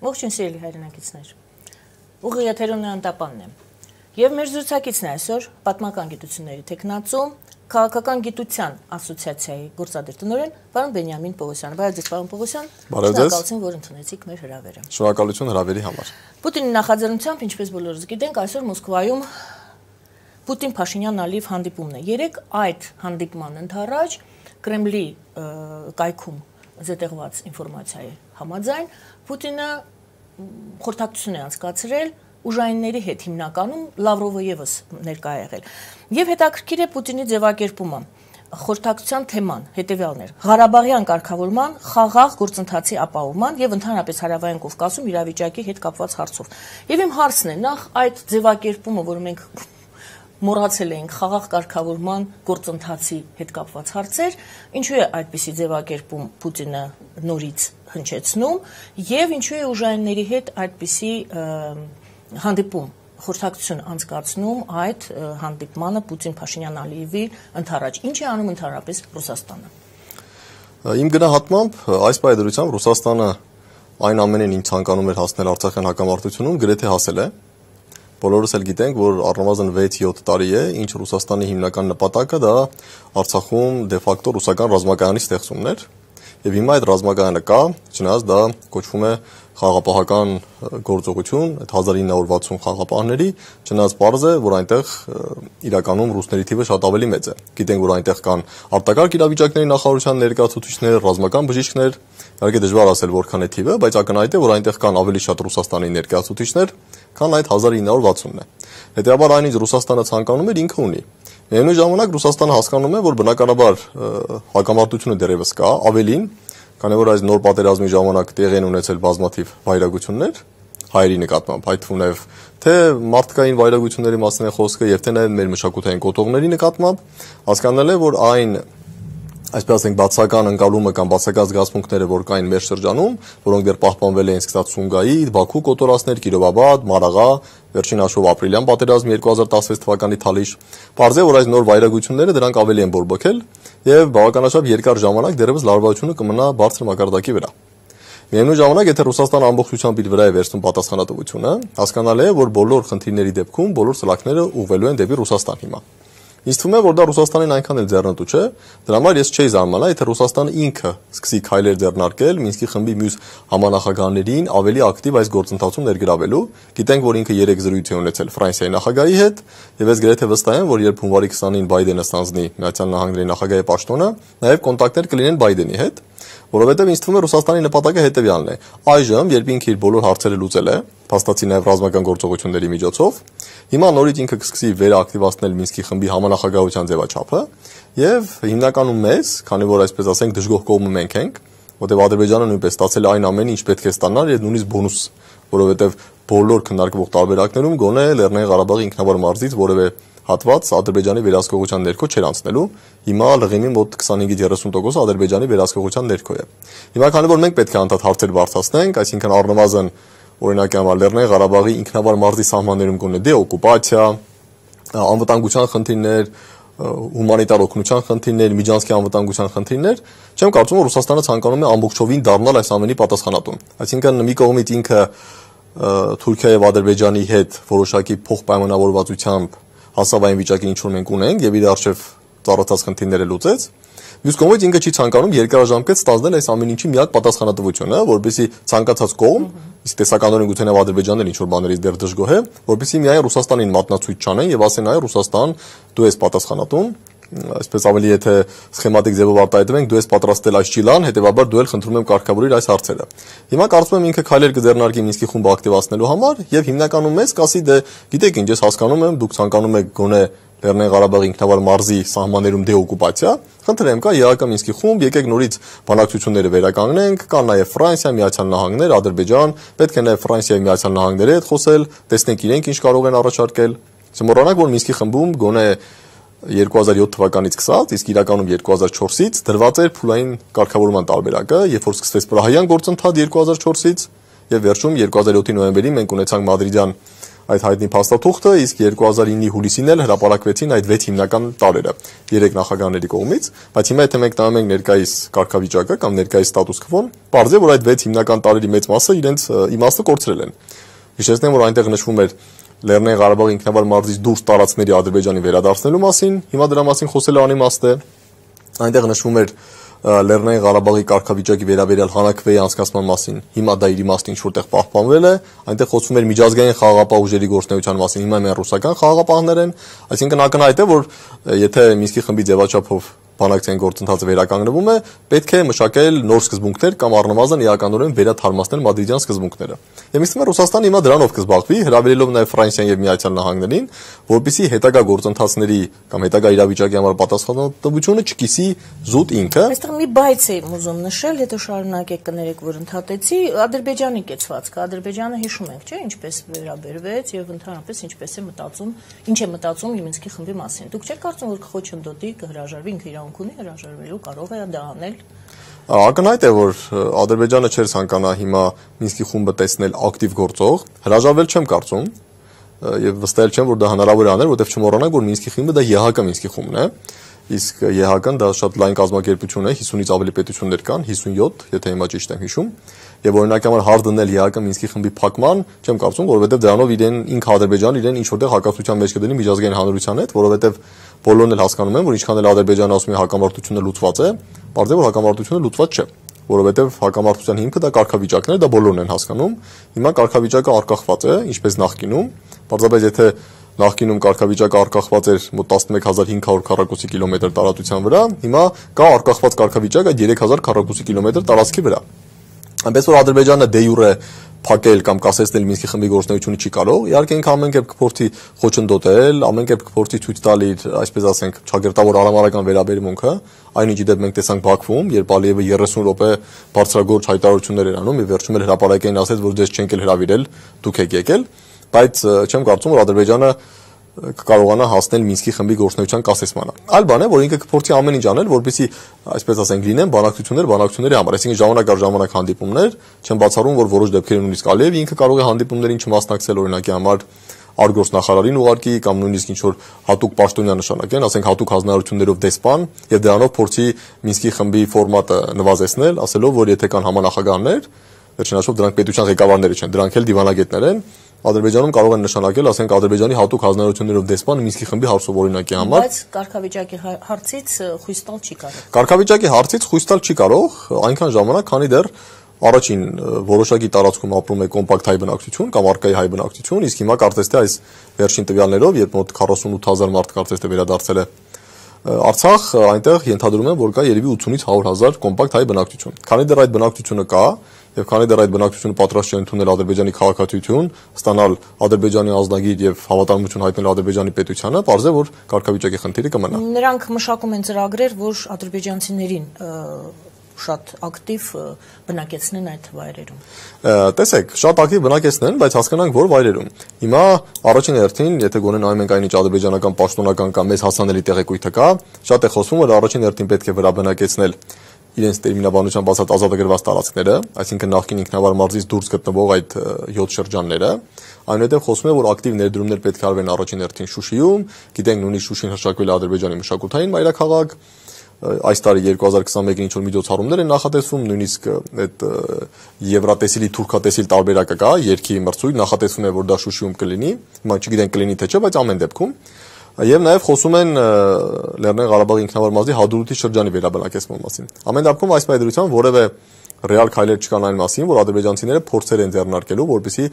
Ողջույն սիրելի հայրենակիցներ, ուղիղ եթերում Անտապանն եմ, և մեր զրուցակիցն է այսօր պատմական գիտությունների թեկնածու, քաղաքական գիտության ասոցիացիայի գործադիր տնօրեն, պարոն Բենյամին Պողոսյանը։ Բարև ձեզ, պարոն Պողոսյան, շնորհակալություն, որ ընդունեցիք մեր հրավերը։ Շնորհակալություն հրավերի համար։ Պուտինի նախաձեռնությամբ, ինչպես բոլորս գիտենք, այսօր Մոսկվայում Պուտին-Փաշինյան-Ալիև հանդիպումն է։ Երեկ այդ հանդիպման ընդառաջ Կրեմլի կայքում զետեղված ինֆորմացիայի համաձայն Պուտինը խորհրդակցություն է անցկացրել ուժայինների հետ, հիմնականում Լավրովը ևս ներկա է եղել։ Եվ հետաքրքիր է Պուտինի ձևակերպումը, խորհրդակցության թեման հետևյալն էր՝ Ղարաբաղյան կարգավորման, խաղաղ գործընթացի ապահովման եւ ընդհանրապես Հարավային Կովկասում իրավիճակի հետ կապված հարցով։ Եվ իմ հարցն է, նախ այդ ձևակերպումը, որը մենք մոռացել էինք, խաղաղ կարգավորման գործընթացի հետ կապված հարցեր, ինչու է այդպիսի ձևակերպում Պուտինը նորից հնչեցնում եւ ինչու է ուժայինների հետ այդպիսի հանդիպում, խորհրդակցություն անցկացնում այդ հանդիպմանը Պուտին-Փաշինյան-Ալիևի ընդառաջ։ Ինչ է անում ընդհանրապես Ռուսաստանը։ Իմ գնահատմամբ այս պայմանությամբ Ռուսաստանը այն ամենին, ինչ ցանկանում էր հասնել Արցախյան հակամարտությունում, գրեթե հասել է։ Բոլորս էլ գիտենք, որ առնվազն 6-7 տարի է, ինչ Ռուսաստանի հիմնական նպատակը դա Արցախում դե ֆակտո ռուսական ռազմակայանի ստեղծումն էր, եւ հիմա այդ ռազմակայանը կա, չնայած դա կոչվում է խաղապահական գործողություն, այդ 1960 խաղապահների, չնայած պարզ է, որ այնտեղ իրականում ռուսների թիվը շատ ավելի մեծ է։ Գիտենք, որ այնտեղ կան արտակարգ իրավիճակների նախարարության ներկայացուցիչներ, ռազմական բժիշկներ, իհարկե դժվար ասել որքան է թիվը, բայց ակնհայտ է, որ այնտեղ կան ավելի շատ Ռուսաստանի ներկայացուցիչներ, քան այդ 1960-ն է։ Հետեւաբար այնինչ Ռուսաստանը ցանկանում էր ինքը ունի։ Միևնույն ժամանակ Ռուսաստանը հասկանում է, որ բնականաբար հակամարտությունը դեռևս կա, ավելին, քանի որ այս նոր պատերազմի ժամանակ տեղի են ունեցել բազմաթիվ վայրագություններ հայերի նկատմամբ, այդ թվում թե մարդկային վայրագությունների մասին է խոսքը եւ թե նաեւ մեր մշակութային կոթողների նկատմամբ, հասկանալ է, որ այն այսպես ասենք բացական ընկալումը կամ բացական զգացմունքները, որ կային մեր շրջանում, որոնք դեռ պահպանվել էին սկսած Սումգայի, Բաքու կոտորածներ, Կիրովաբադ, Մարաղա, վերջին հաշվով ապրիլյան պատերազմի 2016 թվականի թալիշ, պարզ է, որ այս նոր վայրագությունները դրանք ավելի են բորբոքել եւ բավականաչափ երկար ժամանակ դեռևս լարվածությունը կմնա բարձր մակարդակի վրա։ Միևնույն ժամանակ, եթե Ռուսաստանը ամբողջությամբ իր վրա է վերցնում պատասխանատվությունը, հասկանալ է, որ բոլոր խնդիրների դեպքում բոլոր սլաքները ուղղվելու են դեպի Ռուսաստան հիմա։ Ինձ թվում է, որ դա Ռուսաստանին այնքան էլ ձեռնտու չէ, դրա համար ես չէի զարմանա, եթե Ռուսաստանը ինքը սկսի քայլեր ձեռնարկել Մինսկի խմբի մյուս համանախագահներին ավելի ակտիվ այս գործընթացում ներգրավելու։ Գիտենք, որ ինքը 3 զրույց է ունեցել Ֆրանսիայի նախագահի հետ, եւ ես գրեթե վստահ եմ, որ երբ հունվարի 20-ին Բայդենը ստանձնի Միացյալ Նահանգների նախագահի պաշտոնը, նաեւ կոնտակտներ կլինեն Բայդենի հետ, որովհետեւ ինձ թվում է Ռուսաստանի նպատակը հետեւյալն է։ Այժմ, երբ ինքը իր բոլոր հարցերը լուծել է, փաստացի նաեւ ռազմական գործողությունների միջոցով, հիմա նորից ինքը կսկսի վերակտիվացնել Մինսկի խմբի համանախագահության ձևաչափը եւ հիմնականում մեզ, քանի որ այսպես ասենք դժգոհ կողմը մենք ենք, որտեղ Ադրբեջանը նույնպես ստացել է այն ամենը, ինչ պետք է ստանար եւ նույնիսկ բոնուս, որովհետեւ բոլոր քննարկվող տարբերակներում գոնե Լեռնային Ղարաբաղի ինքնավար մարզից որևէ հատված Ադրբեջանի վերահսկողության ներքո չէր անցնելու։ Հիմա լղիմի մոտ 25-30% Ադրբեջանի վերահսկողության ներքո է։ Հիմա քանի որ մենք պետք է անդադ հարցեր բարձրացնենք, այսինքն առնվազն օրինակ Լեռնային Ղարաբաղի ինքնավար մարզի սահմաններում գոնե դեօկուպացիա, անվտանգության խնդիրներ, հումանիտար օգնության խնդիրներ, միջանցքի անվտանգության խնդիրներ, չեմ կարծում, որ Ռուսաստանը ցանկանում է ամբողջովին դառնալ այս ամենի պատասխանատուն։ Այսինքն մի կողմից ինքը Թուրքիայի եւ Ադրբեջանի հետ որոշակի փոխպայմանավորվածությամբ հասավ այն վիճակին, ինչ որ մենք ունենք, եւ իր արժեվ ծառացած խնդիրները լուծեց։ Մյուս կողմից ինքը չի ցանկանում երկարաժամկետ ստանձնել այս ամեն ինչի միակ պատասխանատվությունը, որպեսզի ցանկացած կողմ, իսկ տեսականորեն գուցե նաև Ադրբեջանն ինչ որ բաներից դեռ դժգոհ է, որպեսզի միայն Ռուսաստանին մատնացույց չանեն եւ ասեն այ Ռուսաստան, դու ես պատասխանատուն, այսպես ավելի եթե սխեմատիկ ձևով արտահայտվենք, դու ես պատրաստել այս ճիլան, հետեւաբար դու էլ խնդրում եմ կարգավորիր այս հարցերը։ Հիմա կարծում եմ ինքը քայլեր կձեռնարկի Մինսկի խումբը ակտիվացնելու համար եւ հիմնականում մեզ կասի դե գիտեք ինչ, ես հասկանում եմ, դուք ցանկանում եք գոնե Լեռնային Ղարաբաղի ինքնավար մարզի սահմաններում դեօկուպացիա, խնդրեմ կա ԵԱԿ Մինսկի խումբ, եկեք նորից բանակցությունները վերականգնենք, կան նաև Ֆրանսիա, Միացյալ Նահանգներ, Ադրբեջան, պետք է նաև Ֆրանսիայի Միացյալ Նահանգների հետ խոսել, տեսնենք իրենք ինչ կարող են առաջարկել։ Չմոռանանք, որ Մինսկի խմբում գոնե 2007 թվականից սկսած, իսկ իրականում 2004-ից դրված էր փուլային կարգավորման տարբերակը, երբ որ սկսվեց Պրահայյան գործընթաց 2004-ից եւ վերջում 2007-ի նոյեմբերին մենք ունեցանք Մադրիդյան այդ հայտնի փաստաթուղթը, իսկ 2009-ի հուլիսին էլ հրապարակվեցին այդ 6 հիմնական տարերը 3 նախագահների կողմից, բայց հիմա եթե մենք նայում ենք ներկայիս կարգավիճակը կամ ներկայիս ստատուս քվոն, պարզ է, որ այդ 6 հիմնական տարերի մեծ մասը իրենց իմաստը կորցրել են։ Հիշեցնեմ, որ այնտեղ նշվում էր Լեռնային Ղարաբաղի ինքնավար մարզից դուրս տարածքների Ադրբեջանի վերադարձնելու մասին, հիմա դրա մասին խոսելը անիմաստ է։ Այնտեղ նշվում էր Լեռնային Ղարաբաղի կարգավիճակի վերաբերյալ հանրաքվեի անցկացման մասին, հիմա դա իր իմաստը ինչ որտեղ պահպանվել է, այնտեղ խոսվում էր միջազգային խաղաղապահ ուժերի գործունեության մասին, հիմա միայն ռուսական խաղաղապահներ են, այսինքն ակնհայտ է, որ եթե Մինսկի խմբի ձևաչափով բանակցային գործընթացը վերականգնվում է, պետք է մշակել նոր սկզբունքներ կամ առնվազն իրականորեն վերաթարմացնել մադրիդյան սկզբունքները։ Եվ ինձ թվում է Ռուսաստանը հիմա դրանով կզբաղվի, հրավիրելով նաև Ֆրանսիան եւ Միացյալ Նահանգներին, որպեսզի հետագա գործընթացների կամ հետագա իրավիճակի համար պատասխանատվությունը չկիսի զուտ ինքը։ Այստեղ մի բայց եմ ուզում նշել, հետո շարունակեք կներեք, որ ընդհատեցի Ադրբեջանի կեցվածքը։ Ադրբեջանը հիշում ենք, չէ՞, ինչպես վերաբերվեց եւ ընդհանրապես ինչպես է մտածում, ինչ է մտածում Մինսկի խմբի մասին։ Դուք չեք կարծում, որ կխոչընդոտի կհրաժարվի ինքը իրավունք ունի հրաժարվելու, կարող է դա անել։ Ակնհայտ է, որ Ադրբեջանը չէր ցանկանա հիմա Մինսկի խումբը տեսնել ակտիվ գործող, հրաժարվել չեմ կարծում եւ վստահել չեմ, որ դա հնարավոր է անել, որովհետեւ չմոռանանք, որ Մինսկի խումբը դա ԵՀԿ Մինսկի խումբն է, իսկ ԵՀԿ-ն դա շատ լայն կազմակերպություն է, 50-ից ավելի պետություններ կան, 57, եթե հիմա ճիշտ եմ հիշում, եւ օրինակի համար հարց դնել ԵՀԿ Մինսկի խմբի փակման, չեմ կարծում, որովհետեւ դրանով ինքը Ադրբեջանը իրեն ինչ որտեղ հակասության մեջ կդնի միջազգային հանրության հետ, որովհետեւ բոլորն էլ հասկանում են, որ ինչքան էլ Ադրբեջանը ասում է հակամարտությունը լուծված է, բարձր է, որ հակամարտությունը լուծված չէ, որովհետեւ հակամարտության հիմքը դա կարգավիճակն է, դա բոլորն են հասկանում։ Հիմա կարգավիճակը արկղված է, ինչպես նախկինում, պարզապես եթե նախկինում կարգավիճակը արկղված էր մոտ 11500 քառակուսի կիլոմետր տարածության վրա, հիմա կա արկղված կարգավիճակ այդ 3000 քառակուսի կիլոմետր տարածքի վրա։ Այնպես որ Ադրբեջանը դե յուրե փակել կամ կասեցնել Մինսկի խմբի գործունեությունը չի կարող։ Իհարկե ինքը ամեն կերպ կփորձի խոչընդոտել, ամեն կերպ կփորձի ցույց տալ իր, այսպես ասենք, ճակերտավոր արամարական վերաբերմունքը, այնինչ դեպ մենք տեսանք Բաքվում, երբ Ալիևը 30 րոպե բարձրագործ հայտարարություններ էր անում, եւ վերջում էլ հրապարակային ասեց, որ դες չենք էլ հրավիրել, դուք եք եկել, բայց չեմ կարծում, որ Ադրբեջանը կկարողանա հասնել Մինսկի խմբի գործունեության կասեցմանը։ Այլ բան է, որ ինքը կփորձի ամեն ինչ անել, որպեսզի, այսպես ասենք, լինեն բանակցությունների համար, այսինքն ժամանակ առ ժամանակ հանդիպումներ, չեմ բացառում, որ որոշ դեպքերում նույնիսկ Ալիևը ինքը կարող է հանդիպումներին չմասնակցել, օրինակի համար արտգործնախարարին ուղարկի կամ նույնիսկ ինչ որ հատուկ պաշտոնյա նշանակեն, ասենք հատուկ հանձնարարություններով դեսպան եւ դրանով փորձի Մինսկի խմբի ֆորմատը նվազեցնել, ասելով, որ եթե կան համանախագահներ, վերջնաշով դրանք պետության ղեկավարները չեն, դրանք էլ դիվանագետներ են, Ադրբեջանում կարող են նշանակել, ասենք Ադրբեջանի հատուկ հանձնարարություններով դեսպան Մինսկի խմբի հարցով օրինակի համար։ Բայց կարգավիճակի հարցից խույս տալ չի կարող։ Կարգավիճակի հարցից խույս տալ չի կարող, այնքան ժամանակ, քանի դեռ առաջին որոշակի տարածքում ապրում է կոմպակտ հայ բնակչություն կամ արկայի հայ բնակչություն, իսկ հիմա կարծես թե այս վերջին տվյալներով, երբ մոտ 48000 մարդ կարծես թե վերադարձել է Արցախ, այնտեղ ենթադրում են, որ կա երևի 80-ից 100,000 կոմպակտ հայ բնակչություն։ Քանի դեռ այդ բնակչությունը կա, եւ քանի դեռ այդ բնակչությունը պատրաստ չէ ընդունել Ադրբեջանի քաղաքացիություն, ստանալ Ադրբեջանի ազգագիր եւ հավատարմություն հայտնել Ադրբեջանի պետությանը, պարզ է, որ կարգավիճակի խնդիրը կմնա։ Նրանք մշակում են ծրագրեր, որ ադրբեջանցիներին շատ ակտիվ բնակեցնեն այդ վայրերում։ Տեսեք, շատ ակտիվ բնակեցնեն, բայց հասկանանք, որ վայրերում։ Հիմա առաջին հերթին, եթե գոնե նայում ենք այնինչ ադրբեջանական պաշտոնական կամ մեզ հասանելի տեղեկույթը կա, շատ է խոսվում, որ առաջին հերթին պետք է վրա բնակեցնել իրենց տերմինաբանությամբ ասած ազատագրված տարածքները, այսինքն նախկին ինքնավար մարզից դուրս գտնվող այդ 7 շրջանները, այնուհետև խոսվում է, որ ակտիվ ներդրումներ պետք է արվեն առաջին հերթին Շուշիում, գիտենք նույնիսկ Շուշին հրաշակվել է Ադրբեջանի մշակութային մայրաքաղաք, այս տարի 2021-ին ինչ որ միջոցառումներ են նախատեսվում, նույնիսկ այդ եվրատեսիլի թուրքատեսիլ տարբերակը կա, երկի մրցույթ նախատեսվում է, որ դա Շուշիում կլինի, հիմա չգիտենք կլինի թե չէ, բայց ամեն դեպքում Եվ նաև խոսում են Լեռնային Ղարաբաղի ինքնավար մարզի Հադրութի շրջանի վերաբնակեցման մասին։ Ամեն դեպքում այս պայմանությամբ որևէ ռեալ քայլեր չկան այն մասին, որ ադրբեջանցիները փորձեր են ձեռնարկելու, որպեսզի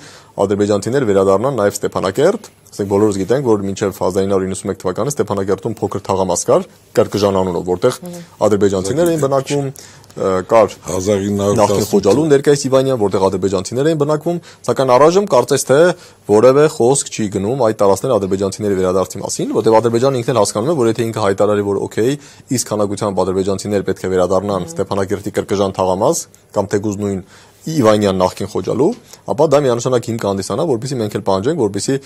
ադրբեջանցիները վերադառնան նաև Ստեփանակերտ, ասենք բոլորս գիտենք, որ մինչև 1991 թվականը Ստեփանակերտում փոքր թաղամաս կար, Կրկժան անունով, որտեղ ադրբեջանցիներ էին բնակվում, կար 1910 նախկին Խոջալու ներկայիս Իվանյան, որտեղ ադրբեջանցիներ էին բնակվում, սակայն առայժմ կարծես թե որևէ խոսք չի գնում այդ տարածքների ադրբեջանցիների վերադարձի մասին, որտեղ Ադրբեջանը ինքն էլ հասկանում է, որ եթե ինքը հայտարարի, որ օքեյ, իսկ քանակությամբ ադրբեջանցիներ պետք է վերադառնան Ստեփանակերտի Կրկժան թաղամաս կամ թեկուզ նույն Իվանյան նախքին խոճալու, ապա դա միանշանակ հիմք կհանդիսանա, որպեսզի մենք էլ պահանջենք, որպեսզի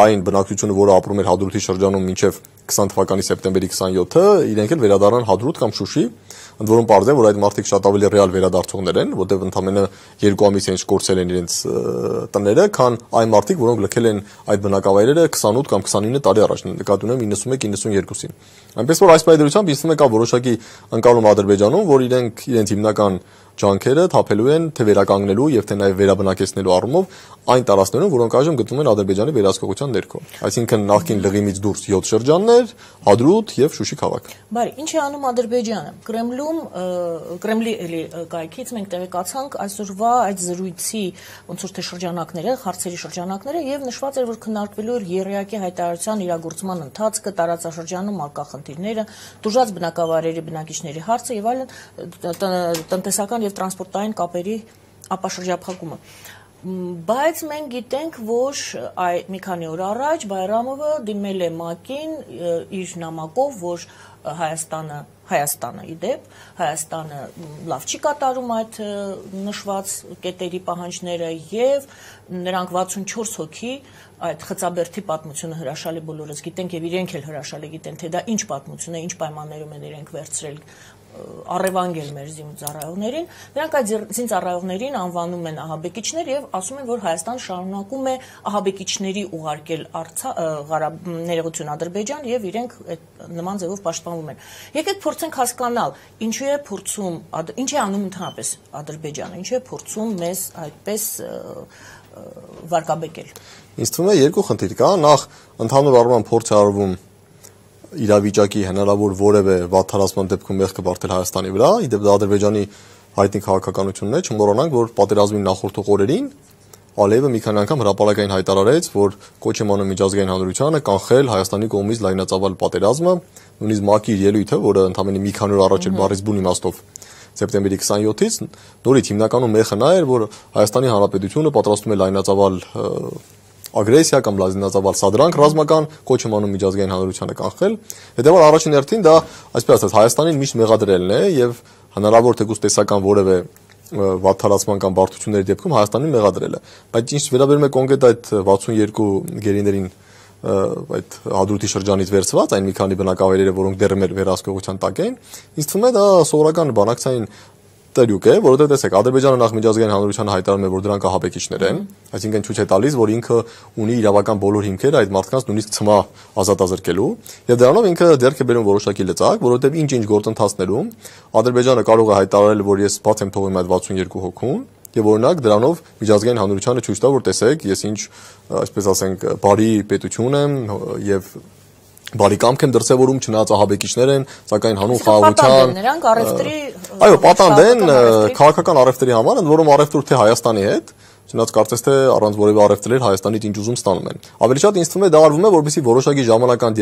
այն բնակչությունը, որը ապրում էր Հադրութի շրջանում մինչև 20 թվականի սեպտեմբերի 27-ը, իրենք էլ վերադառնան Հադրութ կամ Շուշի, ընդ որում պարզ է, որ այդ մարդիկ շատ ավելի ռեալ վերադարձողներ են, որտեղ ընդամենը 2 ամիս ինչ կորցել են իրենց տները, քան այն մարդիկ, որոնք լքել են այդ բնակավայրերը 28 կամ 29 տարի առաջ, նկատի ունեմ 91-92-ին։ Այնպես որ այս պայմանությամբ ինձ թվում է կա որոշակի ընկալում Ադրբեջանում, որ իրենց հիմնական ջանքերը թափելու են թե վերականգնելու եւ թե նաեւ վերաբնակեցնելու առումով այն տարածքներում, որոնք այժմ գտնվում են Ադրբեջանի վերահսկողության ներքո։ Այսինքն նախկին լղիմից դուրս 7 շրջաններ, Հադրութ եւ Շուշի քաղաք։ Բարի, ինչ է անում Ադրբեջանը։ Կրեմլի էլի կայքից մենք տեղեկացանք այսօրվա այդ զրույցի ոնց որ թե շրջանակները, հարցերի շրջանակները եւ նշված էր, որ քննարկվելու էր երեակի հայտարարության իրագործման ընթացքը, տարածաշրջանում արկա խնդիրները, դժուժած բնակավայրերի բնակիչների հարցը եւ այլն, տնտեսական եւ տրանսպորտային կապերի ապաշրջափակումը։ Բայց մենք գիտենք, որ մի քանի օր առաջ Բայրամովը դիմել է ՄԱԿ-ին իր նամակով, որ Հայաստանը իդեպ, Հայաստանը լավ չի կատարում այդ նշված կետերի պահանջները եւ նրանք 64 հոգի այդ խծաբերդի պատմությունը հրաշալի բոլորս գիտենք եւ իրենք էլ հրաշալի գիտեն, թե դա ինչ պատմություն է, ինչ պայմաններում են իրենք վերցրել առևանգել մեր զինծառայողներին, նրանք այդ զինծառայողներին անվանում են ահաբեկիչներ եւ ասում են, որ Հայաստանը շարունակում է ահաբեկիչների ուղարկել ներողություն Ադրբեջան եւ իրենք նման ձևով պաշտպանվում են։ Եկեք փորձենք հասկանալ, ինչու է փորձում, ինչ է անում ընդհանրապես Ադրբեջանը, ինչու է փորձում մեզ այդպես վարկաբեկել։ Ինձ թվում է երկու խնդիր կա, նախ ընդհանուր առմամբ փորձ է արվում իրավիճակի հնարավոր որևէ վատթարացման դեպքում մեղքը բարթել Հայաստանի վրա, իդեպ դա Ադրբեջանի հայտնի քաղաքականությունն է, չմոռանանք, որ պատերազմին նախորդող օրերին Ալիևը մի քանի անգամ հրապարակային հայտարարեց, որ կոչ է անում միջազգային հանրությանը կանխել Հայաստանի կողմից լայնածավալ պատերազմը, նույնիսկ ՄԱԿ-ի ելույթը, որը ընդամենը մի քանի օր առաջ էր բառից բուն իմաստով սեպտեմբերի 27-ից, նորից հիմնականում մեխը նա էր, որ Հայաստանի Հանրապետությունը պատրաստում է լայնածավալ ագրեսիա կամ լայնածավալ սադրանք ռազմական կոչ է անում միջազգային հանրությանը կանխել։ Հետևաբար առաջին հերթին դա, այսպես ասած, Հայաստանին միշտ մեղադրելն է եւ հնարավոր թեկուզ տեսական որևէ վատթարացման կամ բարդությունների դեպքում Հայաստանին մեղադրելը։ Բայց ինչ վերաբերում է կոնկրետ այդ 62 գերիներին այդ Հադրութի շրջանից վերցված այն մի քանի բնակավայրերը, որոնք դեռ մեր վերահսկողության տակ են, ինձ թվում է դա սովորական բանակցային տերյուկ է, որովհետեւ տեսեք, Ադրբեջանը նախ միջազգային հանրությանը հայտարարում է, որ դրանք ահաբեկիչներ են, այսինքն ցույց է տալիս, որ ինքը ունի իրավական բոլոր հիմքեր այդ մարդկանց նույնիսկ ցմահ ազատազրկելու, եւ դրանով ինքը ձեռք է բերում որոշակի լծակ, որովհետեւ ինչ գործընթացներում Ադրբեջանը կարող է հայտարարել, որ ես բաց եմ թողում այդ 62 հոգուն, եւ օրինակ դրանով միջազգային հանրությանը ցույց տա, որ տեսեք, ես ինչ, այսպես ասենք, բարի պետություն եմ եւ բարի կամք են դրսևորում, չնայած ահաբեկիչներ են, սակայն հանուն խաղաղության նրանք առևտրի այո, պատանդ են քաղաքական առևտրի համար, ընդ որում առևտուր թե Հայաստանի հետ, չնայած կարծես թե առանց որևէ առևտրեր Հայաստանից ինչ ուզում ստանում են։ Ավելի շատ ինձ թվում է դա արվում է, որպեսզի որոշակի ժամանական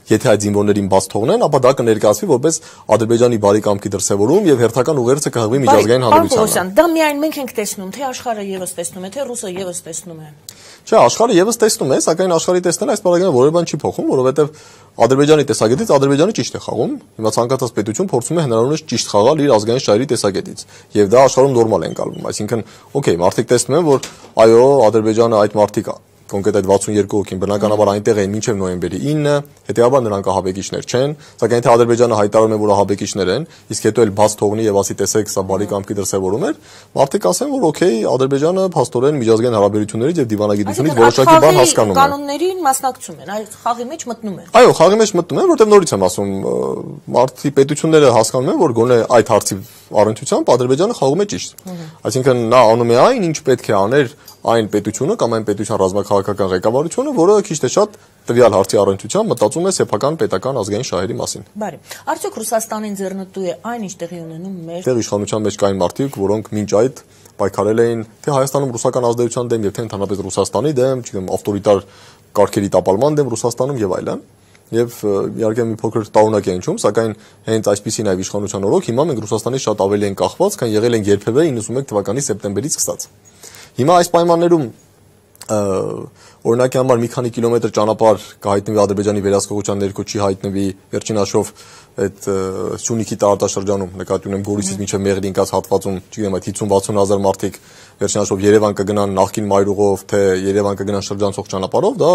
եթե այդ զինվորներին բաց թողնեն, ապա դա կներկայացվի որպես Ադրբեջանի բարի կամքի դրսևորում եւ հերթական ուղերձը կհղվի միջազգային հանրությանը։ Դա միայն մենք ենք տեսնում, թե աշխարհը եւս տեսնում է, թե ռուսը եւս տեսնում է։ Չէ, աշխարհը եւս տեսնում է, սակայն աշխարհի տեսնել այս բaragane որևէ բան չի փոխում, որովհետեւ Ադրբեջանի տեսակետից Ադրբեջանը ճիշտ է խաղում։ Հիմա ցանկացած պետություն փորձում է հնարավորինս ճիշտ խաղալ իր ազգային շահերի տեսակետից, եւ դա աշխարհում նորմալ է ընկալվում։ Այսինքն, օքեյ, մարդիկ տեսնում են, որ այո, Ադրբեջանը այդ մարդիկ կոնկրետ այդ 62 հոգին բնականաբար այնտեղ էին մինչև նոյեմբերի 9-ը, հետեւաբար նրանք ահաբեկիչներ չեն, սակայն թե Ադրբեջանը հայտարարում է, որ ահաբեկիչներ են, իսկ հետո էլ բաց թողնի եւ ասի տեսեք, սա բարի կամքի դրսևորում էր, մարդիկ ասեն, որ օքեյ, Ադրբեջանը փաստորեն միջազգային հարաբերություններից եւ դիվանագիտությունից որոշակի բան հասկանում է։ Կանոններին մասնակցում են, այդ խաղի մեջ մտնում են։ Այո, խաղի մեջ մտնում են, որտեղ նորից եմ ասում, մարդի պետությունները հասկանում են, որ գոնե այդ հարցի առընթությամբ Ադրբեջանը խաղում է ճիշտ։ Այսինքն նա անում է այն, ինչ պետք է աներ այն պետությունը կամ այն պետության ռազմաքաղաքական ղեկավարությունը, որը քիչ թե շատ տվյալ հարցի առընթությամբ մտածում է սեփական պետական ազգային շահերի մասին։ Բարի։ Արդյոք Ռուսաստանին ձեռնտու է այն, ինչ տեղի ունենում մեր Տեղ իշխանության մեջ կային մարդիկ, որոնք մինչ այդ պայքարել էին թե Հայաստանում ռուսական ազդեցության դեմ, եւ թե ընդհանրապես Ռուսաստանի դեմ, չգիտեմ, ավտորիտար կարգերի տապալման դեմ Ռուսաստանում եւ այլն։ Եվ իհարկե մի փոքր տարօրինակ է հնչում, սակայն հենց այսպիսի նաև իշխանության օրոք հիմա մենք Ռուսաստանից շատ ավելի են կախված, քան եղել են երբևէ 91 թվականի սեպտեմբերից սկսած։ Հիմա այս պայմաններում օրինակի համար մի քանի կիլոմետր ճանապարհ կհայտնվի Ադրբեջանի վերահսկողության ներքո չի հայտնվի վերջին հաշվով այդ Սյունիքի տարածաշրջանում նկատի ունեմ Գորիսից մինչև Մեղրի ընկած հատվածում, չգիտեմ, այդ 50-60 հազար մարդիկ վերջին հաշվով Երևան կգնան նախկին մայրուղով, թե Երևան կգնան շրջանցող ճանապարհով, դա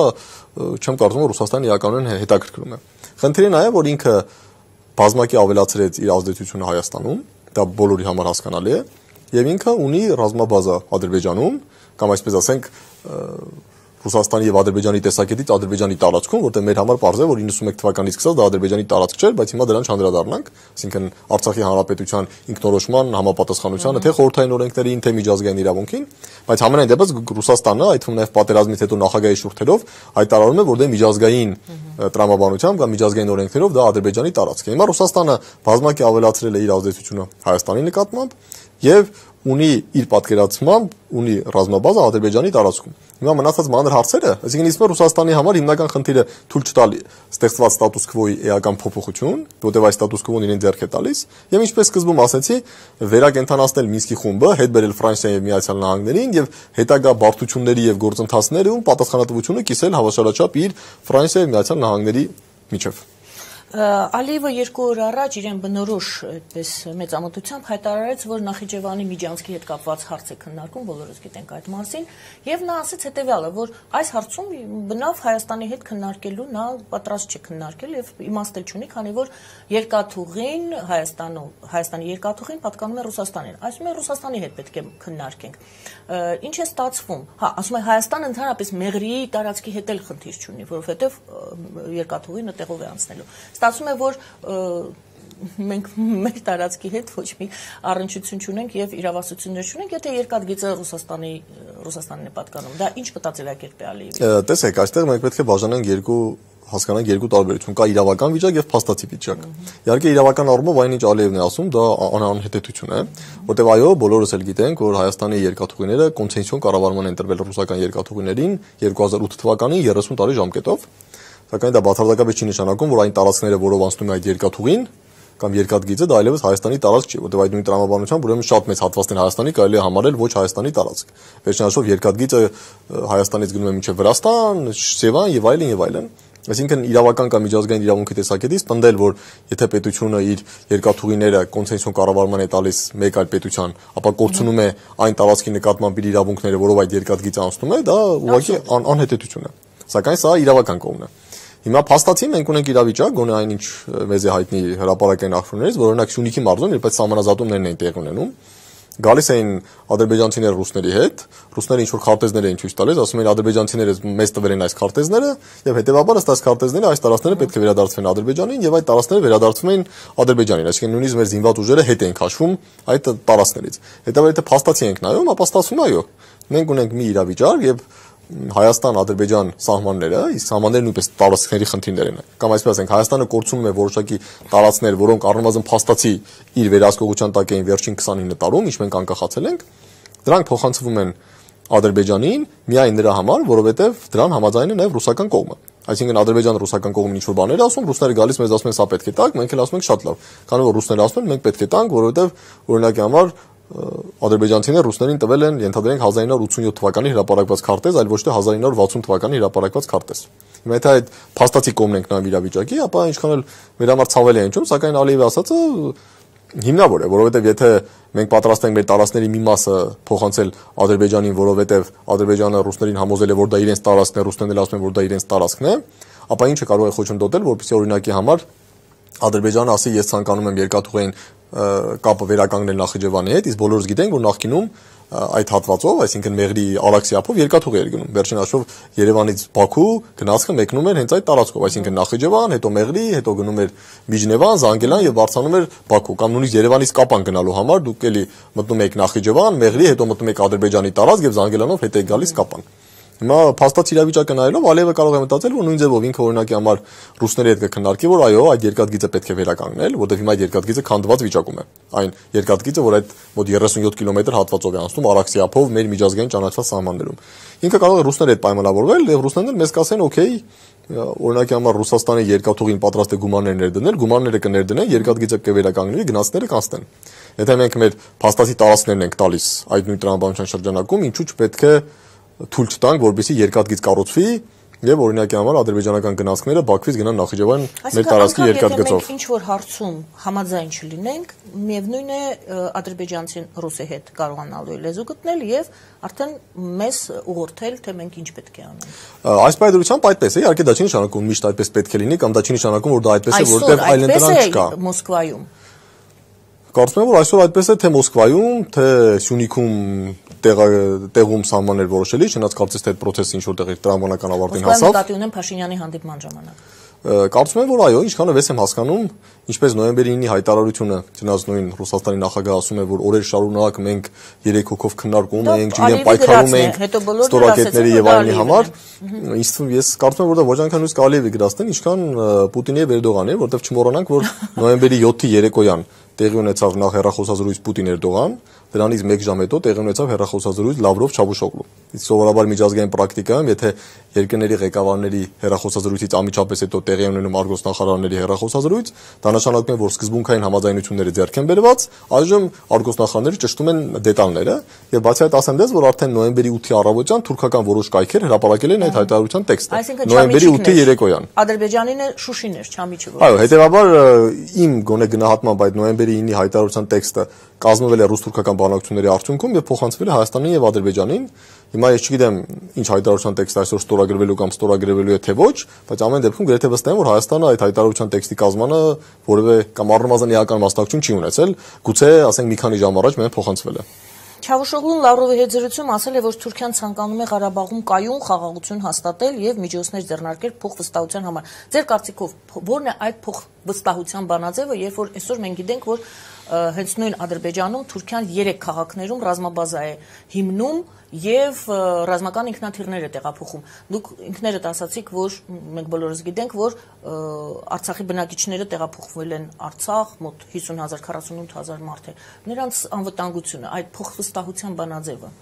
չեմ կարծում որ Ռուսաստանը իրականորեն հետաքրքրում է։ Խնդիրը նա է, որ ինքը բազմակի ավելացրեց իր ազդեցությունը Հայաստանում, դա բոլորի համար հասկանալի է, եւ ինքը ունի ռազմաբազա Ադրբեջանում, կամ այսպես ասենք Ռուսաստանի եւ Ադրբեջանի տեսակետից Ադրբեջանի տարածքում, որտեղ մեր համար պարզ է, որ 91 թվականից սկսած դա Ադրբեջանի տարածք չէր, բայց հիմա դրան չանդրադառնանք, այսինքն Արցախի հանրապետության ինքնորոշման համապատասխանությանը, թե խորհրդային օրենքներին, թե միջազգային իրավունքին, բայց համենայն դեպս Ռուսաստանը, այդ թվում նաեւ պատերազմից հետո նախագահի շուրթերով հայտարարում է, որ դա միջազգային տրամաբանությամբ կամ միջազգային օրենքներով դա Ադրբեջանի տարածք է։ Հիմա Ռուսաստանը բազմակի ավելացրել է իր ազդեցությունը Հայաստանի նկատմամբ եւ ունի իր պատկերացմամբ ունի ռազմաբազա Ադրբեջանի տարածքում։ Հիմա մնացած մանր հարցերը, այսինքն իսկապես Ռուսաստանի համար հիմնական խնդիրը թույլ չտալ ստեղծված ստատուս քվոյի էական փոփոխություն, որտեղ այս ստատուս քվոն իրեն ձեռք է տալիս, եւ ինչպես սկզբում ասացի, վերակենդանացնել Մինսկի խումբը, հետ բերել Ֆրանսիային եւ Միացյալ Նահանգներին եւ հետագա բարդությունների եւ գործընթացներում պատասխանատվությունը կիսել հավասարաչափ իր Ֆրանսիայի եւ Միացյալ Նահանգների միջև։ Ալիևը 2 օր առաջ իրեն բնորոշ այդպես մեծամտությամբ հայտարարեց, որ Նախիջևանի Միջանցքի հետ կապված հարց է քննարկում, բոլորս գիտենք այդ մասին, եւ նա ասաց հետեւյալը, որ այս հարցում բնավ Հայաստանի հետ քննարկելու նա պատրաստ չէ քննարկել եւ իմաստ չունի, քանի որ երկաթուղին Հայաստանի երկաթուղին պատկանում է Ռուսաստանին։ Այսինքն Ռուսաստանի հետ պետք է քննարկենք։ Ինչ է ստացվում։ Հա, ասում է Հայաստանը ընդհանրապես Մեղրի տարածքի հետ էլ խնդիր չունի, որովհետեւ երկաթուղին այդտեղով է անցնելու։ Ստացվում է, որ մենք մեր տարածքի հետ ոչ մի առնչություն չունենք եւ իրավասություններ չունենք, եթե երկաթգիծը Ռուսաստանին է պատկանում։ Դա ինչ մտածելակերպ է Ալիևի։ Տեսեք, այստեղ մենք պետք է բաժանենք հասկանանք երկու տարբերություն, կա իրավական վիճակ եւ փաստացի վիճակ։ Իհարկե իրավական առումով այնինչ Ալիևն է ասում, դա անհետեթություն է, որտեղ այո, բոլորս էլ գիտենք, որ Հայաստանի երկաթուղիները կոնցեսիոն կառավարման են տրվել ռուսական երկաթուղիներին 2008 թվականին 30 տարի ժամկետով, սակայն դա բացարձակապես չի նշանակում, որ այն տարածքները, որով անցնում է այդ երկաթուղին կամ երկաթգիծը, դա այլևս Հայաստանի տարածք չի, որտեղ այդ նույն տրամաբանությամբ ուրեմն շատ մեծ հատվածներ Հայաստանի կարելի է համարել ոչ Հայաստանի տարածք։ Վերջնաշով երկաթգիծը Հայաստանից գնում է մինչև Վրաստան, Սևան եւ այլն եւ այլն։ Այսինքն իրավական կամ միջազգային իրավունքի տեսակետից պնդել, որ եթե պետությունը իր երկաթուղիները կոնցեսիոն կառավարման է տալիս մեկ այլ պետության, ապա կորցնում է այն տարածքի նկատմամբ իր իրավունքները, որով այդ երկաթգիծը անցնում է, դա ուղղակի անհետեթություն է։ Սակայն սա իրավական կողմն է։ Հիմա փաստացի մենք ունենք իրավիճակ, գոնե այնինչ մեզ է հայտնի հրապարակային աղբյուրներից, որ օրինակ Սյունիքի մարզում, երբ այդ սահմանազատումներն էին տեղի ունենում, գալիս էին ադրբեջանցիները ռուսների հետ, ռուսները ինչ որ քարտեզներ էին ցույց տալիս, ասում էին ադրբեջանցիները մեզ տվել են այս քարտեզները, եւ հետեւաբար ըստ այս քարտեզների այս տարածքները պետք է վերադարձվեն Ադրբեջանին եւ այդ տարածքները վերադարձվում են Ադրբեջանին, այսինքն նույնիսկ մեր զինված ուժերը հետ էին քաշվում այդ տարածքներից։ Հետեւաբար եթե փաստացի ենք նայում, ապա ստացվում է այո, մենք ունենք մի իրավիճակ եւ Հայաստան-Ադրբեջան սահմանները, իսկ սահմանները նույնպես տարածքների խնդիրներ են։ Կամ այսպես ասենք, Հայաստանը կորցնում է որոշակի տարածքներ, որոնք առնվազն փաստացի իր վերահսկողության տակ էին վերջին 29 տարում, ինչ մենք անկախացել ենք, դրանք փոխանցվում են Ադրբեջանին միայն նրա համար, որովհետև դրան համաձայն է նաև ռուսական կողմը։ Այսինքն Ադրբեջանը ռուսական կողմին ինչ-որ բաներ ասում, ռուսները գալիս մեզ ասում են սա պետք է տանք, մենք էլ ասում ենք շատ լավ։ Քանի որ ռուսները ասում են մենք պետք է տանք, որովհետև օրինակի համար ադրբեջանցիները ռուսներին տվել են ենթադրենք 1987 թվականի հրապարակված քարտեզ, այլ ոչ թե 1960 թվականի հրապարակված քարտեզ։ Հիմա եթե այդ փաստացի կողմն ենք նայում իրավիճակի, ապա ինչքան էլ մեր համար ցավել է հնչում, սակայն Ալիևի ասածը հիմնավոր է, որովհետև եթե մենք պատրաստ ենք մեր տարածքների մի մասը փոխանցել Ադրբեջանին, որովհետև Ադրբեջանը ռուսներին համոզել է, որ դա իրենց տարածքն է, ռուսներն էլ ասում են, որ դա իրենց տարածքն է, ապա ինչը կարող է խոչընդոտել, որպեսզի օրինակի համար Ադրբեջանը ասի ես ցանկանում եմ երկաթուղային կապը վերականգնել Նախիջևանի հետ, իսկ բոլորս գիտենք, որ նախկինում այդ հատվածով, այսինքն Մեղրի Արաքսիապով երկաթուղի էր գնում։ Վերջին հաշվով Երևանից Բաքու գնացքը մեկնում էր հենց այդ տարածքով, այսինքն Նախիջևան, հետո Մեղրի, հետո գնում էր Միջնևան, Զանգելան եւ բարձրանում էր Բաքու, կամ նույնիսկ Երևանից Կապան գնալու համար դուք էլի մտնում եք Նախիջևան, Մեղրի, հետո մտնում եք Ադրբեջանի տարածք եւ Զանգելանով հետ եք գալիս Կապան։ Հիմա փաստացի իրավիճակը նայելով Ալիևը կարող է մտածել, որ նույն ձևով ինքը օրինակի համար ռուսների հետ կքննարկի, որ այո, այդ երկաթգիծը պետք է վերականգնել, որովհետև հիմա այդ երկաթգիծը քանդված վիճակում է։ Այն երկաթգիծը, որ այդ մոտ 37 կիլոմետր հատվածով է անցնում Արաքսիապով մեր միջազգային ճանաչված սահմաններում։ Ինքը կարող է ռուսների հետ պայմանավորվել եւ ռուսներն էլ մեզ կասեն, օքեյ, օրինակի համար Ռուսաստանի երկաթուղին պատրաստ է գումարներ ներդնել, գումարները կներդնեն, երկաթգիծը կվերականգնվի, գնացները կանցնեն։ Եթե մենք մեր փաստացի տարածքներն ենք տալիս այդ նույն տրամաբանության շրջանակում, ինչու՞ չպետք է թույլ չտանք, որպեսզի երկաթգիծ կառուցվի եւ օրինակի համար ադրբեջանական գնացքները Բաքվից գնան Նախիջևան մեր տարածքի երկաթգծով։ Ինչ որ հարցում համաձայն չլինենք, միևնույն է ադրբեջանցին ռուսի հետ կարողանալու է լեզու գտնել եւ արդեն մեզ ուղղորդել, թե մենք ինչ պետք է անենք։ Այս պայմանությամբ այդպես է, իհարկե դա չի նշանակում միշտ այդպես պետք է լինի, կամ դա չի նշանակում, որ դա այդպես է, որտեղ այլ ընտրանք չկա։ Մոսկվայում Կարծում եմ, որ այսօր այդպես է թե Մոսկվայում, թե Սյունիքում տեղում սահմաններ որոշելի, չնայած կարծես թե այդ process-ը ինչ որտեղ իր տրամաբանական ավարտին հասավ։ Նկատի ունեմ Փաշինյանի հանդիպման ժամանակ։ Կարծում եմ, որ այո, ինչքան ես եմ հասկանում, ինչպես նոյեմբերի 9-ի հայտարարությունը, չնայած նույն Ռուսաստանի նախագահը ասում է, որ օրեր շարունակ մենք 3 հոգով քննարկում ենք, ջրեն պայքարում ենք ստորակետների եւ այլնի համար, ես կարծում եմ, որ դա ոչ այնքան նույնիսկ Ալիևի գրասեն, ինչքան Պուտինի եւ Էրդողանի, որովհետեւ չմոռանանք, որ նոյեմբերի 7-ի երեկոյան տեղի ունեցավ նախ հեռախոսազրույց Պուտին-Էրդողան, դրանից 1 ժամ հետո տեղի ունեցավ հեռախոսազրույց Լավրով-Չավուշօղլու։ Իսկ սովորաբար միջազգային պրակտիկայում, եթե երկրների ղեկավարների հեռախոսազրույցից անմիջապես հետո տեղի ունենում արտգործնախարարների հեռախոսազրույց, դա նշանակում է, որ սկզբունքային համաձայնությունները ձեռք են բերված, այժմ արտգործնախարարները ճշտում են դետալները, եւ բացի այդ ասեմ դες, որ արդեն նոյեմբերի 8-ի առավոտյան թուրքական որոշ կայքեր հրապարակել են այդ հայտարարության տեքստը։ Նոյեմբերի 8-ի երեկոյան։ Ադրբեջանին է Շուշին էր, Չամիչը։ Այո, հետեւաբար իմ գոնե գնահատմամբ այդ նոյեմբերի 9-ի հայտարարության տեքստը կազմվել է ռուս-թուրքական բանակցությունների արդյունքում եւ փոխանցվել է Հայաստանին եւ Ադրբեջանին։ Հիմա ես չգիտեմ ինչ հայտարարության տեքստ այսօր ստորագրվելու կամ ստորագրվելու է թե ոչ, բայց ամեն դեպքում գրեթե վստահ եմ, որ Հայաստանը այդ հայտարարության տեքստի կազմանը որևէ կամ առնվազն իական մասնակցություն չի ունեցել, գուցե ասենք մի քանի ժամ առաջ մեն փոխանցվել է։ Չավուշօղլուն Լավրովի հետ զրույցում ասել է, որ Թուրքիան ցանկանում է Ղարաբաղում կայուն խաղաղություն հաստատել եւ միջոցներ ձեռնարկել փոխվստահության համար։ Ձեր կարծիքով ո՞րն է այդ փոխվստահության բանաձևը, երբ որ այսօր մենք գիտենք, որ հենց նույն Ադրբեջանում Թուրքիան 3 քաղաքներում ռազմաբազա է հիմնում եւ ռազմական ինքնաթիռներ է տեղափոխում։ Դուք ինքներդ ասացիք, որ մենք բոլորս գիտենք, որ Արցախի բնակիչները տեղափոխվել են Արցախ, մոտ 50,000, 48,000 մարդ է։ Նրանց անվտանգությունը, այդ փոխվստահության բանաձևը։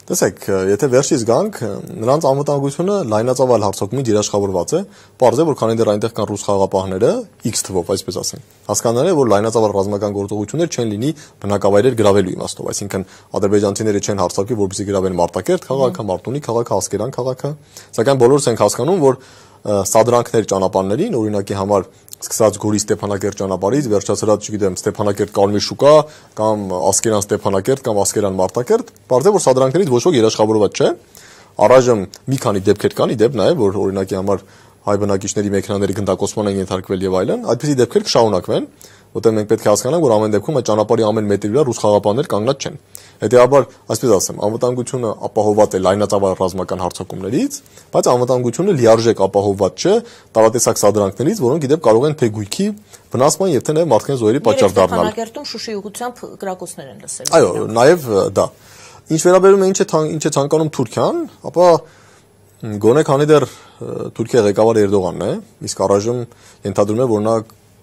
Տեսեք, եթե վերջից գանք, նրանց անվտանգությունը լայնածավալ հարձակումից երաշխավորված է, պարզ է, որ քանի դեռ այնտեղ կան ռուս խաղապահները, X թվով, այսպես ասենք։ Հասկանալի է, որ լայնածավալ ռազմական գործողություններ չեն լինի բնակավայրեր գրավելու իմաստով, այսինքն ադրբեջանցիները չեն հարձակվի, որպեսզի գրավեն Մարտակերտ քաղաքը, Մարտունի քաղաքը, Ասկերան քաղաքը, սակայն բոլորս ենք հասկանում, որ սադրանքներ ճանապարհներին, օրինակի համար սկսած Գորի Ստեփանակերտ ճանապարհից վերջացրած, չգիտեմ, Ստեփանակերտ Կարմիր շուկա կամ Ասկերան Ստեփանակերտ կամ Ասկերան Մարտակերտ, բարձր որ սադրանքներից ոչ ոք երաշխավորված չէ։ Առայժմ մի քանի դեպքեր կան, ի դեպ նաև, որ օրինակի համար հայ բնակիչների մեքենաների գնդակոծման են ենթարկվել եւ այլն, այդպիսի դեպքեր կշարունակվեն, որտեղ մենք պետք է հասկանանք, որ ամեն դեպքում այդ ճանապարհի ամեն մետրի վրա ռուս խաղապահներ կանգնած չեն։ Հետեւաբար, այսպես ասեմ, անվտանգությունը ապահովված է լայնածավալ ռազմական հարձակումներից, բայց անվտանգությունը լիարժեք ապահովված չէ տարատեսակ սադրանքներից, որոնք իդեպ կարող են թեգույքի վնասման եւ թե նաեւ մարդկային զոհերի պատճառ դառնալ։ Ստեփանակերտում Շուշի ուղությամբ կրակոցներ են լսել։ Այո, նաեւ դա։ Ինչ վերաբերում է ինչ է ցանկանում Թուրքիան, ապա գոնե քանի դեռ Թուրքիա ղեկավարը Էրդողանն է, իսկ առայժմ ենթադրում է, որ նա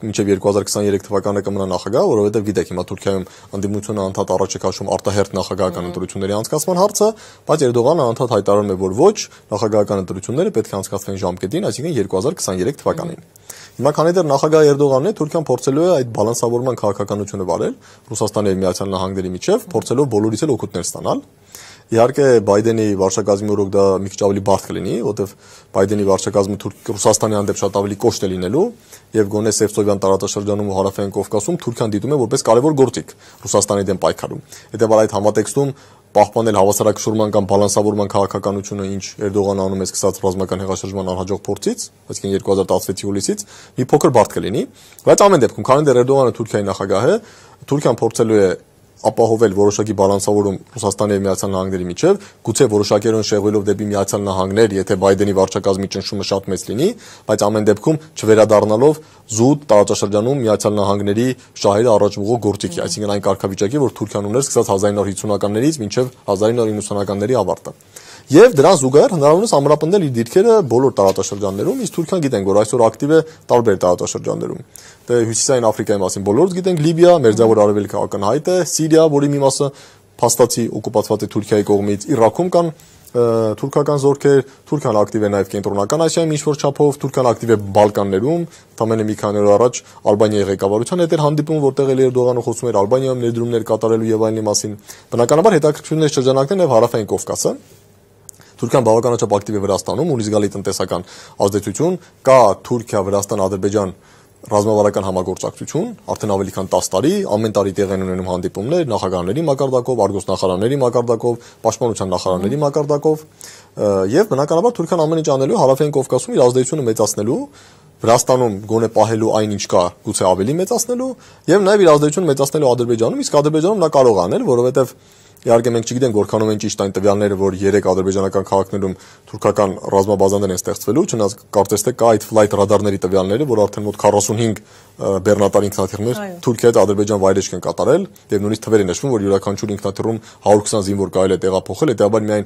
մինչև 2023 թվականը կմնա նախագահ, որովհետև գիտեք, հիմա Թուրքիայում անդիմությունը անդադ առաջ է քաշում արտահերթ նախագահական ընտրությունների անցկացման հարցը, բայց Էրդողանը անդադ հայտարարում է, որ ոչ, նախագահական ընտրությունները պետք է անցկացվեն ժամկետին, այսինքն 2023 թվականին։ Հիմա քանի դեռ նախագահ Էրդողանն է, Թուրքիան փորձելու է այդ բալանսավորման քաղաքականությունը վարել Ռուսաստանի եւ Միացյալ Նահանգների միջև, փորձելով բոլորից էլ օգուտներ ստանալ։ Իհարկե Բայդենի վարչակազմի օրոք դա մի քիչ ավելի բարդ կլինի, որովհետև Բայդենի վարչակազմը Ռուսաստանի հանդեպ շատ ավելի կոշտ է լինելու եւ գոնե Սևծովյան տարածաշրջանում ու Հարավային Կովկասում Թուրքիան դիտում է որպես կարևոր գործիք Ռուսաստանի դեմ պայքարում։ Հետեւաբար այդ համատեքստում պահպանել հավասարակշռման կամ բալանսավորման քաղաքականությունը, ինչ Էրդողանը անում է սկսած ռազմական հեղաշրջման անհաջող փորձից, այսինքն 2016-ի հուլիսից, մի փոքր բարդ կլինի, բայց ամեն դեպքում, քանի դեռ Էրդողանը Թուրքիայի նախագահ է, Թուրքիան փորձելու է ապահովել որոշակի բալանսավորում Ռուսաստանի եւ Միացյալ Նահանգների միջև, գուցե որոշակերուն շեղվելով դեպի Միացյալ Նահանգներ, եթե Բայդենի վարչակազմի ճնշումը շատ մեծ լինի, բայց ամեն դեպքում չվերադառնալով զուտ տարածաշրջանում Միացյալ Նահանգների շահերը առաջուղող գործիքի, այսինքն այն կարգավիճակի, որ Թուրքիան ուներ սկսած 1950-ականներից մինչև 1990-ականների ավարտը։ Եվ դրան զուգահեռ հնարավորինս ամրապնդել իր դիրքերը բոլոր տարածաշրջաններում, իսկ Թուրքիան գիտենք, որ այսօր ակտիվ է տարբեր տարածաշրջաններում։ Դե Հյուսիսային Աֆրիկայի մասին բոլորս գիտենք, Լիբիա, Մերձավոր Արևելքը ակնհայտ է, Սիրիա, որի մի մասը փաստացի օկուպացված է Թուրքիայի կողմից, Իրաքում կան թուրքական զորքեր, Թուրքիան ակտիվ է նաև կենտրոնական Ասիայում ինչ-որ չափով, Թուրքիան ակտիվ է Բալկաններում, թամենը մի քանի օր առաջ Ալբանիայի ղեկավարության հետ էր հանդիպում, որտեղ Էրդողանը խոսում էր Ալբանիայում ներդրումներ կատարելու եւ այլնի մասին։ Բնականաբար հետաքրքրություններ շրջանակներ եւ Հարավային Կովկասը։ Թուրքիան բավականաչափ ակտիվ է Վրաստանում, ունի զգալի տնտեսական ազդեցություն, կա Թուրքիա, Վրաստան, Ադրբեջան ռազմավարական համագործակցություն, արդեն ավելի քան 10 տարի, ամեն տարի տեղ են ունենում հանդիպումներ նախագահների մակարդակով, արտգործնախարարների մակարդակով, պաշտպանության նախարարների մակարդակով, եւ բնականաբար Թուրքիան ամեն ինչ անելու հարավային Կովկասում իր ազդեցությունը մեծացնելու, Վրաստանում գոնե պահելու այն ինչ կա, գուցե ավելի մեծացնելու եւ նաեւ իր ազդեցությունը մեծացնելու Ադրբեջանում, իսկ Ադրբեջանում նա կարող է անել, որովհետեւ իհարկե մենք չգիտենք որքանով են ճիշտ այն տվյալները, որ 3 ադրբեջանական քաղաքներում թուրքական ռազմաբազաներ են ստեղծվելու, չնայած կարծես թե կա այդ ֆլայթ ռադարների տվյալները, որ արդեն մոտ 45 բեռնատար ինքնաթիռներ Թուրքիայից Ադրբեջան վայրեջք են կատարել, եւ նույնիսկ թվեր են նշվում, որ յուրաքանչյուր ինքնաթիռում 120 զինվոր կարելի է տեղափոխել, հետեւաբար միայն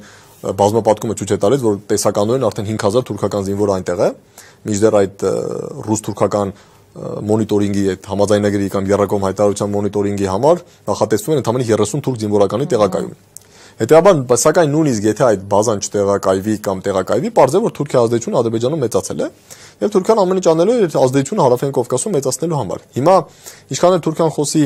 բազմապատկումը ցույց է տալիս, որ տեսականորեն արդեն 5000 թուրքական զինվոր այնտեղ է, մինչդեռ այդ ռուս-թուրքական մոնիտորինգի այդ համաձայնագրի կամ երրակողմ հայտարարության մոնիտորինգի համար նախատեսվում են ընդամենը 30 թուրք զինվորականի տեղակայում։ Հետեւաբար, սակայն նույնիսկ եթե այդ բազան չտեղակայվի կամ տեղակայվի, պարզ է, որ Թուրքիայի ազդեցությունը Ադրբեջանում մեծացել է, եւ Թուրքիան ամեն ինչ անելու է ազդեցությունը հարավային Կովկասում մեծացնելու համար։ Հիմա ինչքան էլ Թուրքիան խոսի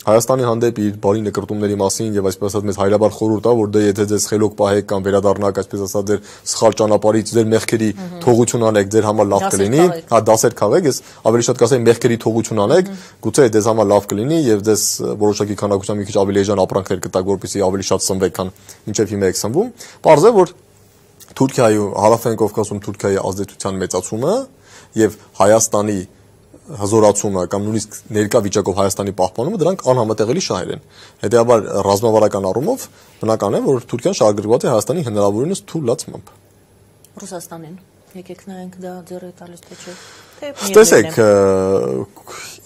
Հայաստանի հանդեպ իր բարի նկրտումների մասին եւ այսպես ասած մեծ հայրաբար խորհուրդ տա, որ դե եթե ձեզ խելոք պահեք կամ վերադառնաք, այսպես ասած ձեր սխալ ճանապարհից, ձեր մեղքերի թողություն անեք, ձեր համար լավ կլինի, հա դասեր քաղեք, ես ավելի շատ կասեի մեղքերի թողություն անեք, գուցե ձեզ համար լավ կլինի եւ ձեզ որոշակի քանակությամբ մի քիչ ավելի էժան ապրանքներ կտակ, որպեսզի ավելի շատ սնվեք, քան մինչեւ հիմա եք սնվում։ Պարզ է, որ Թուրքիայի հարավային Կովկասում Թուրքիայի ազդեցության մեծացումը եւ Հայաստանի հզորացումը կամ նույնիսկ ներկա վիճակով Հայաստանի պահպանումը դրանք անհամատեղելի շահեր են։ Հետեւաբար ռազմավարական առումով բնական է, որ Թուրքիան շահագրգռված է Հայաստանի հնարավորինս թույլատրմամբ։ Ռուսաստանին եկեք նայենք դա ձեռը տալիս թե չէ։ Տեսեք,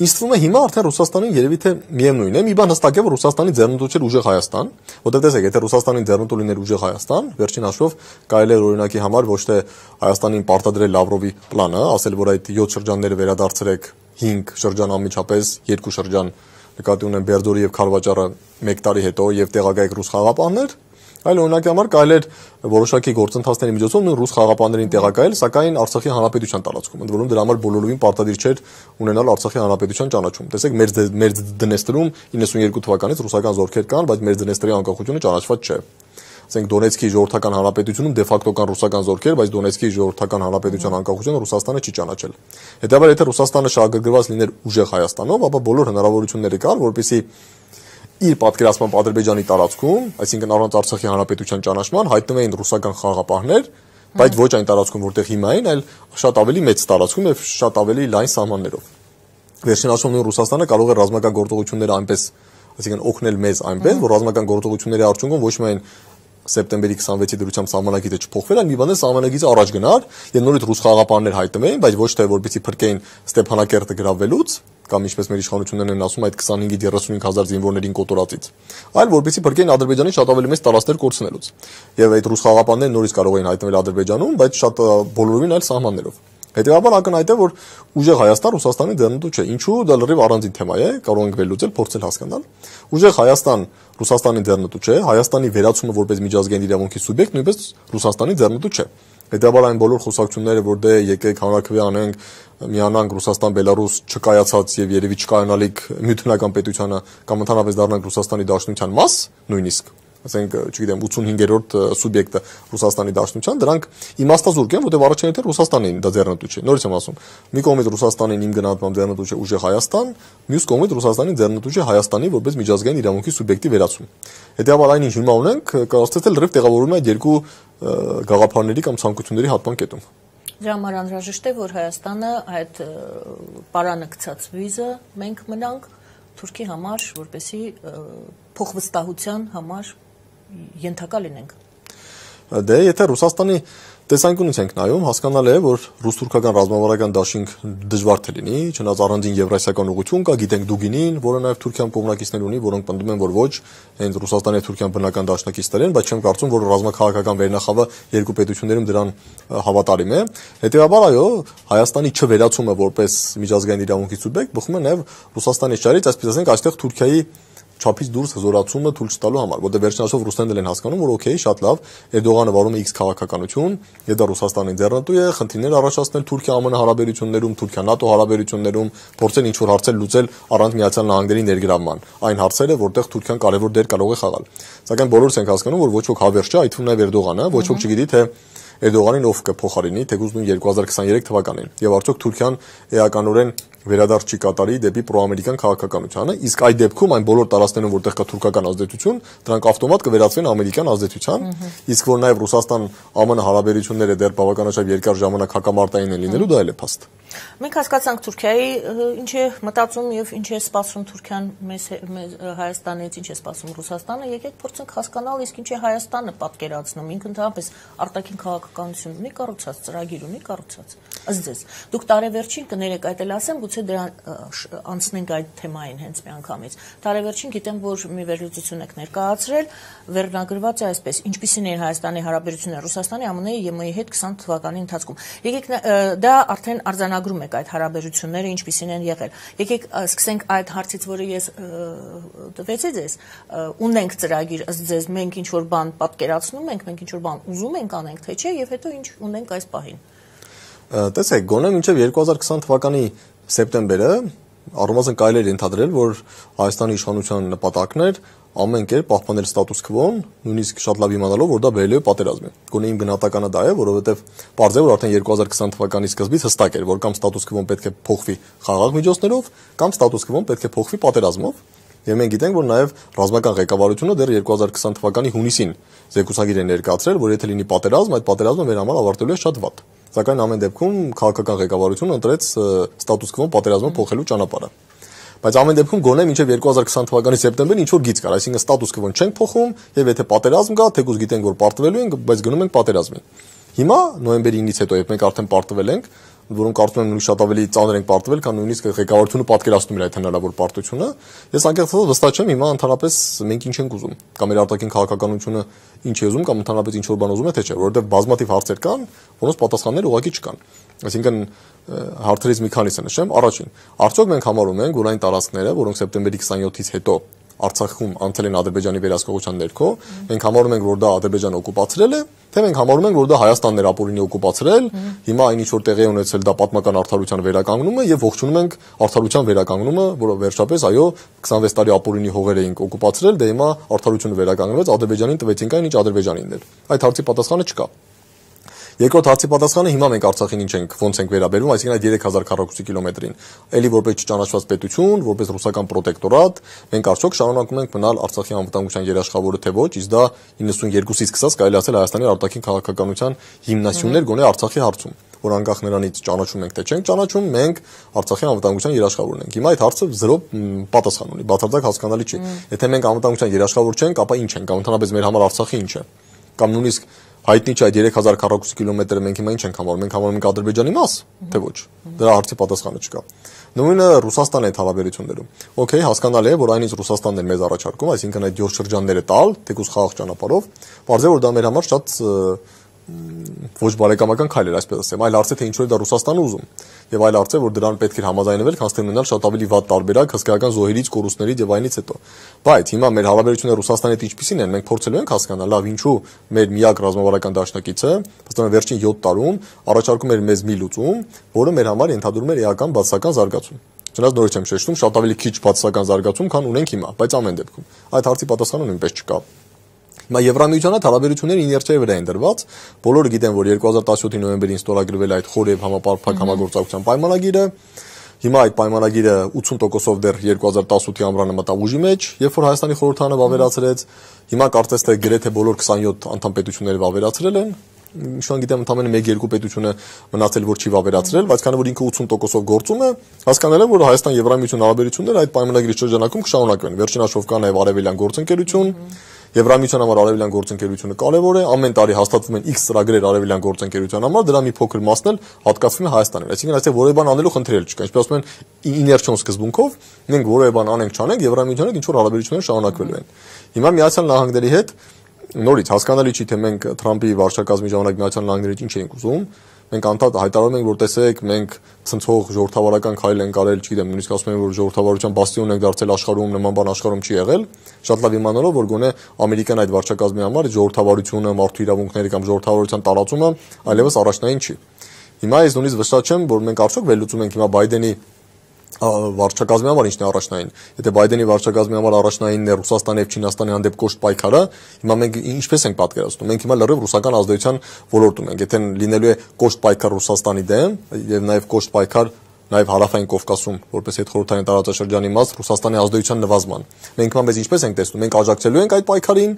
ինձ թվում է հիմա արդեն Ռուսաստանին երևի թե միևնույն է, մի բան հստակ է, որ Ռուսաստանի ձեռնտու չէր ուժեղ Հայաստան, որտեղ տեսեք, եթե Ռուսաստանին ձեռնտու լիներ ուժեղ Հայաստան, վերջին հաշվով կարելի է օրինակի համար ոչ թե Հայաստանին պարտադրել Լավրովի պլանը, ասել, որ այդ 7 շրջանները վերադարձրեք 5 շրջան անմիջապես, 2 շրջան նկատի ունեն Բերձորի եւ Քարվաճառը 1 տարի հետո եւ տեղակայեք ռուս խաղապաններ, այլ օրինակի համար կարելի էր որոշակի գործընթացների միջոցով նույն ռուս խաղապաններին տեղակայել, սակայն Արցախի հանրապետության տարածքում, ընդ որում դրա համար բոլորովին պարտադիր չէր ունենալ Արցախի հանրապետության ճանաչում։ Տեսեք, մեր Դնեստրում 92 թվականից ռուսական զորքեր կան, բայց մեր Դնեստրի անկախությունը ճանաչված չէ։ Ասենք Դոնեցկի ժողովրդական հանրապետությունում դե ֆակտո կան ռուսական զորքեր, բայց Դոնեցկի ժողովրդական հանրապետության անկախությունը Ռուսաստանը չի ճանաչել։ Հետևաբար եթե Ռուսաստանը շահագրգռված լիներ ուժեղ Հայաստանով, ապա բոլոր հնարավորությունները կան, որպեսզի իր պատկերացմամբ Ադրբեջանի տարածքում, այսինքն առանց Արցախի հանրապետության ճանաչման հայտնվեին ռուսական խաղապահներ, բայց ոչ այն տարածքում, որտեղ հիմա են, այլ շատ ավելի մեծ տարածքում եւ շատ ավելի լայն սահմաններով։ Վերջին հաշվով նույն Ռուսաստանը կարող է ռազմական գործողությունները այնպես, այսինքն օգնել մեզ այնպես, որ ռազմական գործողությունների արդյունքում ոչ միայն սեպտեմբերի 26-ի դրությամբ սահմանակիցը չփոխվել, այլ մի բան է սահմանակիցը առաջ գնար, եւ նորից ռուս խաղապաններ հայտնվեին, բայց ոչ թե որպեսզի փրկեին Ստեփանակերտը գրավվելուց, կամ ինչպես մեր իշխանություններն են ասում, այդ 25-ից 35000 զինվորներին կոտորածից, այլ որպեսզի փրկեին Ադրբեջանի շատ ավելի մեծ տարածքներ կորցնելուց։ Եվ այդ ռուս խաղապաններն նորից կարող էին հայտնվել Ադրբեջանում, բայց շատ բոլորովին այլ սահմաններով։ Հետևաբար ակնհայտ է, որ ուժեղ Հայաստան Ռուսաստանի ձեռնտու չէ։ Ինչու դա լրիվ առանձին թեմա է, կարող ենք վերլուծել, փորձել հասկանալ։ Ուժեղ Հայաստան Ռուսաստանի ձեռնտու չէ, Հայաստանի վերացումը որպես միջազգային իրավունքի սուբյեկտ նույնպես Ռուսաստանի ձեռնտու չէ։ Հետևաբար այն բոլոր խոսակցությունները, որ դե եկեք հանրաքվե անենք, միանանք Ռուսաստան, Բելարուս չկայացած եւ երևի չկայանալիք միութենական պետությանը կամ ընդհանրապես դառնանք Ռուսաստանի Դաշնության մաս, նույնիսկ ասենք, չգիտեմ, 85-րդ սուբյեկտը Ռուսաստանի Դաշնության, դրանք իմաստազուրկ են, որտեղ առաջին հերթին Ռուսաստանին դա ձեռնտու չէ։ Նորից եմ ասում, մի կողմից Ռուսաստանին իմ գնահատմամբ ձեռնտու չէ ուժեղ Հայաստան, մյուս կողմից Ռուսաստանին ձեռնտու չէ Հայաստանի որպես միջազգային իրավունքի սուբյեկտի վերացում։ Հետեւաբար այն ինչ հիմա ունենք, կարծես թե լրիվ տեղավորվում է այդ երկու գաղափարների կամ ցանկությունների հատման կետում։ Դրա համար անհրաժեշտ է, որ Հայաստանը այդ պարանը վիզը մենք մնանք Թուրքի համար, որպեսզի փոխվստահության համար ենթակա լինենք։ Դե եթե Ռուսաստանի տեսանկյունից ենք նայում, հասկանալ է, որ ռուս-թուրքական ռազմավարական դաշինք դժվար թե լինի, չնայած առանձին եվրասիական ուղղություն կա, գիտենք Դուգինին, որը նաև Թուրքիան կողմնակիցներ ունի, որոնք պնդում են, որ ոչ, հենց Ռուսաստանի եւ Թուրքիան բնական դաշնակիցներ են, բայց չեմ կարծում, որ ռազմաքաղաքական վերնախավը երկու պետություններում դրան հավատարիմ է։ Հետևաբար այո, Հայաստանի չվերացումը որպես միջազգային իրավունքի սուբյեկտ բխում է նաև Ռուսաստանի շահերից, այսպես ասենք, այստեղ Թուրքիայի չափից դուրս հզորացումը թույլ չտալու համար, որտեղ վերջնաշով ռուսներն են հասկանում, որ օքեյ, շատ լավ, Էրդողանը վարում է X քաղաքականություն, եւ դա Ռուսաստանի ձեռնտու է, խնդիրներ առաջացնել Թուրքիա-ԱՄՆ հարաբերություններում, Թուրքիա-ՆԱՏՕ հարաբերություններում, փորձեն ինչ-որ հարցեր լուծել առանց Միացյալ Նահանգների ներգրավման։ Այն հարցերը, որտեղ Թուրքիան կարևոր դեր կարող է խաղալ։ Սակայն բոլորս ենք հասկանում, որ ոչ ոք հավերժ չէ, այդ թվում նաև Էրդողանը, ոչ ոք չգիտի, թե Էրդողանին ով կփոխարինի, թեկուզ նույն 2023 թվականին։ Եվ արդյոք Թուրքիան էականորեն վերադարձ չի կատարի դեպի պրոամերիկան քաղաքականությանը, իսկ այդ դեպքում այն բոլոր տարածքներում, որտեղ կա թուրքական ազդեցություն, դրանք ավտոմատ կվերածվեն ամերիկյան ազդեցության, իսկ որ նաև Ռուսաստան-ԱՄՆ հարաբերությունները դեռ բավականաչափ երկար ժամանակ հակամարտային են լինելու, դա էլ է փաստ։ Մենք հասկացանք Թուրքիայի ինչ է մտածում եւ ինչ է սպասում Թուրքիան մեզ Հայաստանից, ինչ է սպասում Ռուսաստանը, եկեք փորձենք հասկանալ, իսկ ինչ է Հայաստանը պատկերացնում, ինքը ընդհանրապես արտաքին քաղաքականություն ունի կառուցած, ծրագիր ունի կառուցած։ Ըստ ձեզ, դուք տարեվերջին կներեք այդ էլ ասեմ, գուցե դրան անցնենք այդ թեմային հենց մի անգամից։ Տարեվերջին գիտեմ, որ մի վերլուծություն եք ներկայացրել, վերնագրված է այսպես. ինչպիսին են Հայաստանի հարաբերությունները Ռուսաստանի, ԱՄՆ-ի, ԵՄ-ի հետ 20 թվականի ընթացքում։ Եկեք դա արդեն արձանագրում եք այդ հարաբերությունները ինչպիսին են եղել։ Եկեք սկսենք այդ հարցից, որը ես տվեցի ձեզ, ունենք ծրագիր, ըստ ձեզ մենք ինչ որ բան պատկերացնում ենք, մենք ինչ որ բան ուզում ենք անենք, թե չէ, եւ հետո ինչ ունենք այս պահին։ Տեսեք, գոնե մինչև 2020 թվականի սեպտեմբերը առնվազն կարելի է ենթադրել, որ Հայաստանի իշխանության նպատակն էր ամեն կերպ պահպանել ստատուս քվոն, նույնիսկ շատ լավ իմանալով, որ դա բերելու է պատերազմի։ Գոնե իմ գնահատականը դա է, որովհետև պարզ է, որ արդեն 2020 թվականի սկզբից հստակ էր, որ կամ ստատուս քվոն պետք է փոխվի խաղաղ միջոցներով, կամ ստատուս քվոն պետք է փոխվի պատերազմով։ Եվ մենք գիտենք, որ նաև ռազմական ղեկավարությունը դեռ 2020 թվականի հունիսին զեկուցագիր է ներկայացրել, որ եթե լինի պատերազմ, այդ պատերազմը մեր համար ավարտելու է շատ վատ։ Սակայն ամեն դեպքում քաղաքական ղեկավարությունը ընտրեց ստատուս քվոն պատերազմը փոխելու ճանապարհը։ Բայց ամեն դեպքում գոնե մինչև 2020 թվականի սեպտեմբերին ինչ որ գիծ կար, այսինքն ստատուս քվոն չենք փոխում, եւ եթե պատերազմ կա, թեկուզ գիտենք, որ պարտվելու ենք, բայց գնում ենք պատերազմի։ Հիմա նոյեմբերի 9-ից հետո, երբ մենք արդեն պարտվել ենք, որոնք կարծում եմ նույնիսկ շատ ավելի ծանր ենք պարտվել, քան նույնիսկ ղեկավարությունը պատկերացնում էր այդ հնարավոր պարտությունը, ես անկեղծ ասած վստահ չեմ հիմա ընդհանրապես մենք ինչ ենք ուզում, կամ մեր արտաքին քաղաքականությունը ինչ է ուզում, կամ ընդհանրապես ինչ որ բան ուզում է, թե չէ, որովհետև բազմաթիվ հարցեր կան, որոնց պատասխաններ ուղղակի չկան։ Այսինքն հարցերից մի քանիսը նշեմ, առաջին, արդյոք մենք համարում ենք, որ այն տարածքները, որոնք սեպտեմբերի 27-ից հետո Արցախում անցել են Ադրբեջանի վերահսկողության ներքո, մենք համարում ենք, որ դա Ադրբեջանը օկուպացրել է, թե մենք համարում ենք, որ դա Հայաստանն էր ապօրինի օկուպացրել, հիմա այն ինչ որ տեղի է ունեցել դա պատմական արդարության վերականգնումը եւ ողջունում ենք արդարության վերականգնումը, որը վերջապես այո 26 տարի ապօրինի հողեր էինք օկուպացրել, դե հիմա արդարությունը վերականգնվեց, Ադրբեջանին տվեցինք այն, ինչ Ադրբեջանին էր։ Այդ հարցի պատասխանը չկա։ Երկրորդ հարցի պատասխանը հիմա մենք Արցախին ինչ ենք, ոնց ենք վերաբերվում, այսինքն այդ 3000 քառակուսի կիլոմետրին, ելի որպես չճանաչված պետություն, որպես ռուսական պրոտեկտորատ, մենք արդյոք շարունակում ենք մնալ Արցախի անվտանգության երաշխավորը թե ոչ, իսկ դա 92-ից սկսած կարելի ասել Հայաստանի արտաքին քաղաքականության հիմնասյուններ գոնե Արցախի հարցում, որ անկախ նրանից ճանաչում ենք թե չենք ճանաչում, մենք Արցախի անվտանգության երաշխավորն ենք։ Հիմա այդ հարցը զրո պատասխան ունի, բացարձակ հասկանալի չի։ Եթե մենք անվտանգության երաշխավոր չենք, ապա ինչ ենք, կամ ընդհանրապես մեր համար Արցախի ինչ է, կամ նույնիսկ հայտնի չէ այդ 3000 քառակուսի կիլոմետրը մենք հիմա ինչ ենք համարում, մենք համարում ենք Ադրբեջանի մաս, թե ոչ։ Դրա հարցի պատասխանը չկա։ Նույնը Ռուսաստանի հետ հարաբերություններում։ Okay, հասկանալի է, որ այնից Ռուսաստանն է մեզ առաջարկում, այսինքն այդ 7 շրջանները տալ, թեկուզ խաղաղ ճանապարհով, բարձր է որ դա մեր համար շատ ոչ բարեկամական քայլ էր, այսպես ասեմ, այլ հարց է թե ինչու է դա Ռուսաստանը ուզում։ Եվ այլ հարց է, որ դրան պետք է համաձայնվել, քան թե ունենալ շատ ավելի վատ տարբերակ հսկայական զոհերից, կորուստներից եւ այնից հետո։ Բայց հիմա մեր հարաբերությունները Ռուսաստանի հետ ինչպիսին են, մենք փորձելու ենք հասկանալ, լավ, ինչու մեր միակ ռազմավարական դաշնակիցը, ըստ ուրեմն վերջին 7 տարում առաջարկում էր մեզ մի լուծում, որը մեր համար ենթադրում էր էական բացասական զարգացում։ Չնայած նորից եմ շեշտում, շատ ավելի քիչ բացասական զարգացում, քան ունենք հիմա, բայց ամեն դեպքում այդ հարցի պատասխանը նույնպես չկա։ Հիմա Եվրամիության հետ հարաբերությունները իներցիայի վրա են դրված։ Բոլորը գիտեն, որ 2017-ի նոյեմբերին ստորագրվել է այդ խոր եւ համապարփակ համագործակցության պայմանագիրը։ Հիմա այդ պայմանագիրը 80%-ով դեռ 2018-ի ամռանը մտավ ուժի մեջ, երբ որ Հայաստանի խորհրդարանը վավերացրեց։ Հիմա կարծես թե գրեթե բոլոր 27 անդամ պետությունները վավերացրել են։ Ինչքան գիտեմ, ընդամենը 1-2 պետությունը մնացել որ չի վավերացրել, բայց քանի որ ինքը 80%-ով գործում է, հասկանալ եմ, որ Հայաստան-Եվրամիություն հարաբերությունները այդ պայմանագրի շրջանակում կշարունակվեն։ Վերջին հաշվով կա նաև արևելյան գործընկերություն, Եվրամիության համար արևելյան գործընկերությունը կարևոր է, ամեն տարի հաստատվում են X ծրագրեր արևելյան գործընկերության համար, դրա մի փոքր մասն էլ հատկացվում է Հայաստանին։ Այսինքն այստեղ որևէ բան անելու խնդիր չկա։ Ինչպես ասում են, իներցիոն սկզբունքով մենք որևէ բան անենք չանենք, Եվրամիության հետ ինչ որ հարաբերություններ շարունակվելու են։ Հիմա Միացյալ Նահանգների հետ նորից հասկանալի չի թե մենք Թրամփի վարչակազմի ժամանակ Միացյալ Նահանգներից ինչ էինք ուզում, մենք անդադ հայտարարում ենք, որ տեսեք, մենք ցնցող ժողովրդավարական քայլ ենք արել, չգիտեմ, նույնիսկ ասում են, որ ժողովրդավարության բաստիոն ենք դարձել աշխարհում, նման բան աշխարհում չի եղել, շատ լավ իմանալով, որ գոնե ամերիկյան այդ վարչակազմի համար ժողովրդավարությունը, մարդու իրավունքները կամ ժողովրդավարության տարածումը այլևս առաջնային չի։ Հիմա ես նույնիսկ վստահ չեմ, որ մենք արդյոք վերլուծում ենք հիմա Բայդենի վարչակազմի համար ինչն է առաջնային։ Եթե Բայդենի վարչակազմի համար առաջնայինն է Ռուսաստանի եւ Չինաստանի հանդեպ կոշտ պայքարը, հիմա մենք ինչպես ենք պատկերացնում։ Մենք հիմա լրիվ ռուսական ազդեցության ոլորտում ենք։ Եթե լինելու է կոշտ պայքար Ռուսաստանի դեմ եւ նաեւ կոշտ պայքար նաեւ հարավային Կովկասում, որպես հետխորհրդային տարածաշրջանի մաս Ռուսաստանի ազդեցության նվազման։ Մենք հիմա մեզ ինչպես ենք տեսնում, մենք աջակցելու ենք այդ պայքարին,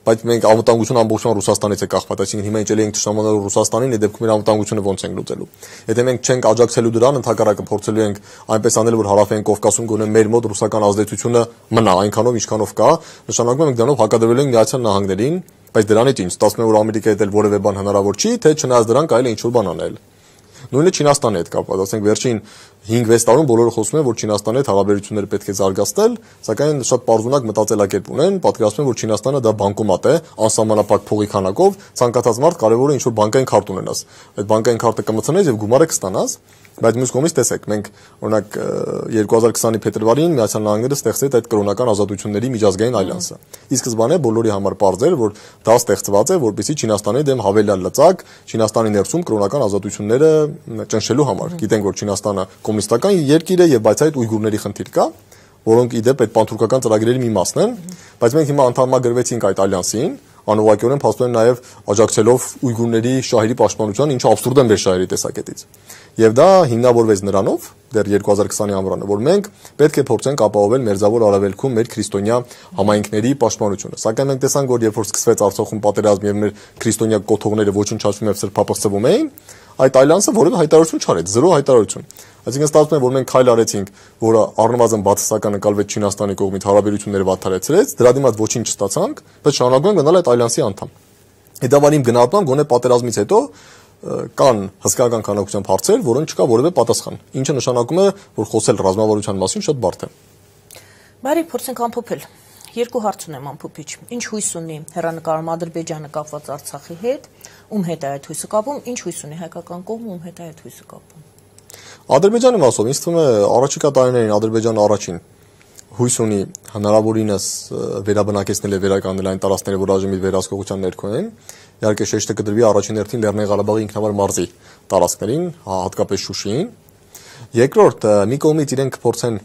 բայց մենք անվտանգությունը ամբողջովին Ռուսաստանից է կախված, այսինքն հիմա ինչ էլի ենք ճշտամանելու Ռուսաստանին, այդ դեպքում իր անվտանգությունը ոնց ենք լուծելու։ Եթե մենք չենք աջակցելու դրան, ընդհակառակը փորձելու ենք այնպես անել, որ հարավային Կովկասում գոնե մեր մոտ ռուսական ազդեցությունը մնա այնքանով, ինչքանով կա, նշանակում է մենք դրանով հակադրվելու ենք Միացյալ Նահանգներին, բայց դրանից ինչ, ստացվում է, որ Ամերիկայի հետ էլ որևէ բան հնարավոր չի, թե չնայած դրան կարելի է ինչ-որ բան անել։ Նույնը Չինաստանի հետ կապված, ասենք վերջին 5-6 տարում բոլորը խոսում են, որ Չինաստանի հետ հարաբերությունները պետք է զարգացնել, սակայն շատ պարզունակ մտածելակերպ ունեն, պատկերացնում են, որ Չինաստանը դա բանկոմատ է, անսահմանափակ փողի քանակով, ցանկացած մարդ կարևոր է ինչ-որ բանկային քարտ ունենաս։ Այդ բանկային քարտը կմցնես եւ գումարը կստանաս, բայց մյուս կողմից տեսեք, մենք օրինակ 2020-ի փետրվարին Միացյալ Նահանգները ստեղծեց այդ կրոնական ազատությունների միջազգային ալյանսը։ Ի սկզբանե բոլորի համար պարզ էր, որ դա ստեղծված է, որպեսզի Չինաստանի դեմ հավելյալ լծակ Չինաստանի ներսում կրոնական ազատությունները ճնշելու համար։ Գիտենք, որ Չինաստանը կոմունիստական երկիր է եւ բայց այդ ուйգուրների խնդիր կա, որոնք իդեպ այդ պանթուրքական ծրագրերի մի մասն են, բայց մենք հիմա անդամագրվեցինք այդ ալյանսին, անուղղակիորեն փաստորեն նաև աջակցելով ուйգուրների շահերի պաշտպանության, ինչը աբսուրդ է մեր շահերի տեսակետից։ Եվ դա հիմնավորվեց նրանով դեռ 2020-ի ամռանը, որ մենք պետք է փորձենք ապահովել մերձավոր Արևելքում մեր քրիստոնյա համայնքների պաշտպանությունը։ Սակայն մենք տեսանք, որ երբ որ սկսվեց Արցախում պատերազմ եւ մեր քրիստոնյա կոթողները ոչնչացվում եւ սրբապղծվում էին, այդ այլանսը որևէ հայտարարություն չարեց, զրո հայտարարություն։ Այսինքն ստացվում է, որ մենք քայլ արեցինք, որը առնվազն բացասական նկատվեց Չինաստանի կողմից հարաբերությունները վատթարեցրեց, դրա դիմաց ոչինչ չստացանք, բայց շարունակում ենք գնալ այդ ալյանսի անդամ։ Հետաբար իմ գնահատմամբ գոնե պատերազմից հետո կան հսկայական քանակությամբ հարցեր, որոնց չկա որևէ պատասխան, ինչը նշանակում է, որ խոսել ռազմավարության մասին շատ բարդ է։ Բարի, փորձենք ամփոփել։ Երկու հարց ունեմ ամփոփիչ։ Ինչ հույս ունի հեռանկարում Ադրբեջանը կապված Արցախի հետ, ում հետ է այդ հույսը կապում, ինչ հույս ունի հայկական կողմը, ում հետ է այդ հույսը կապում։ Ադրբեջանի մասով ինձ թվում է առաջիկա տարիներին Ադրբեջանը առաջին հույս ունի հնարավորինս վերաբնակեցնել եւ վերականգնել այն տարածքները, որ այժմ իր վերահսկողության ներքո են։ Իհարկե շեշտը կդրվի առաջին հերթին Լեռնային Ղարաբաղի ինքնավար մարզի տարածքներին, հատկապես Շուշիին։ Երկրորդ, մի կողմից իրենք փորձեն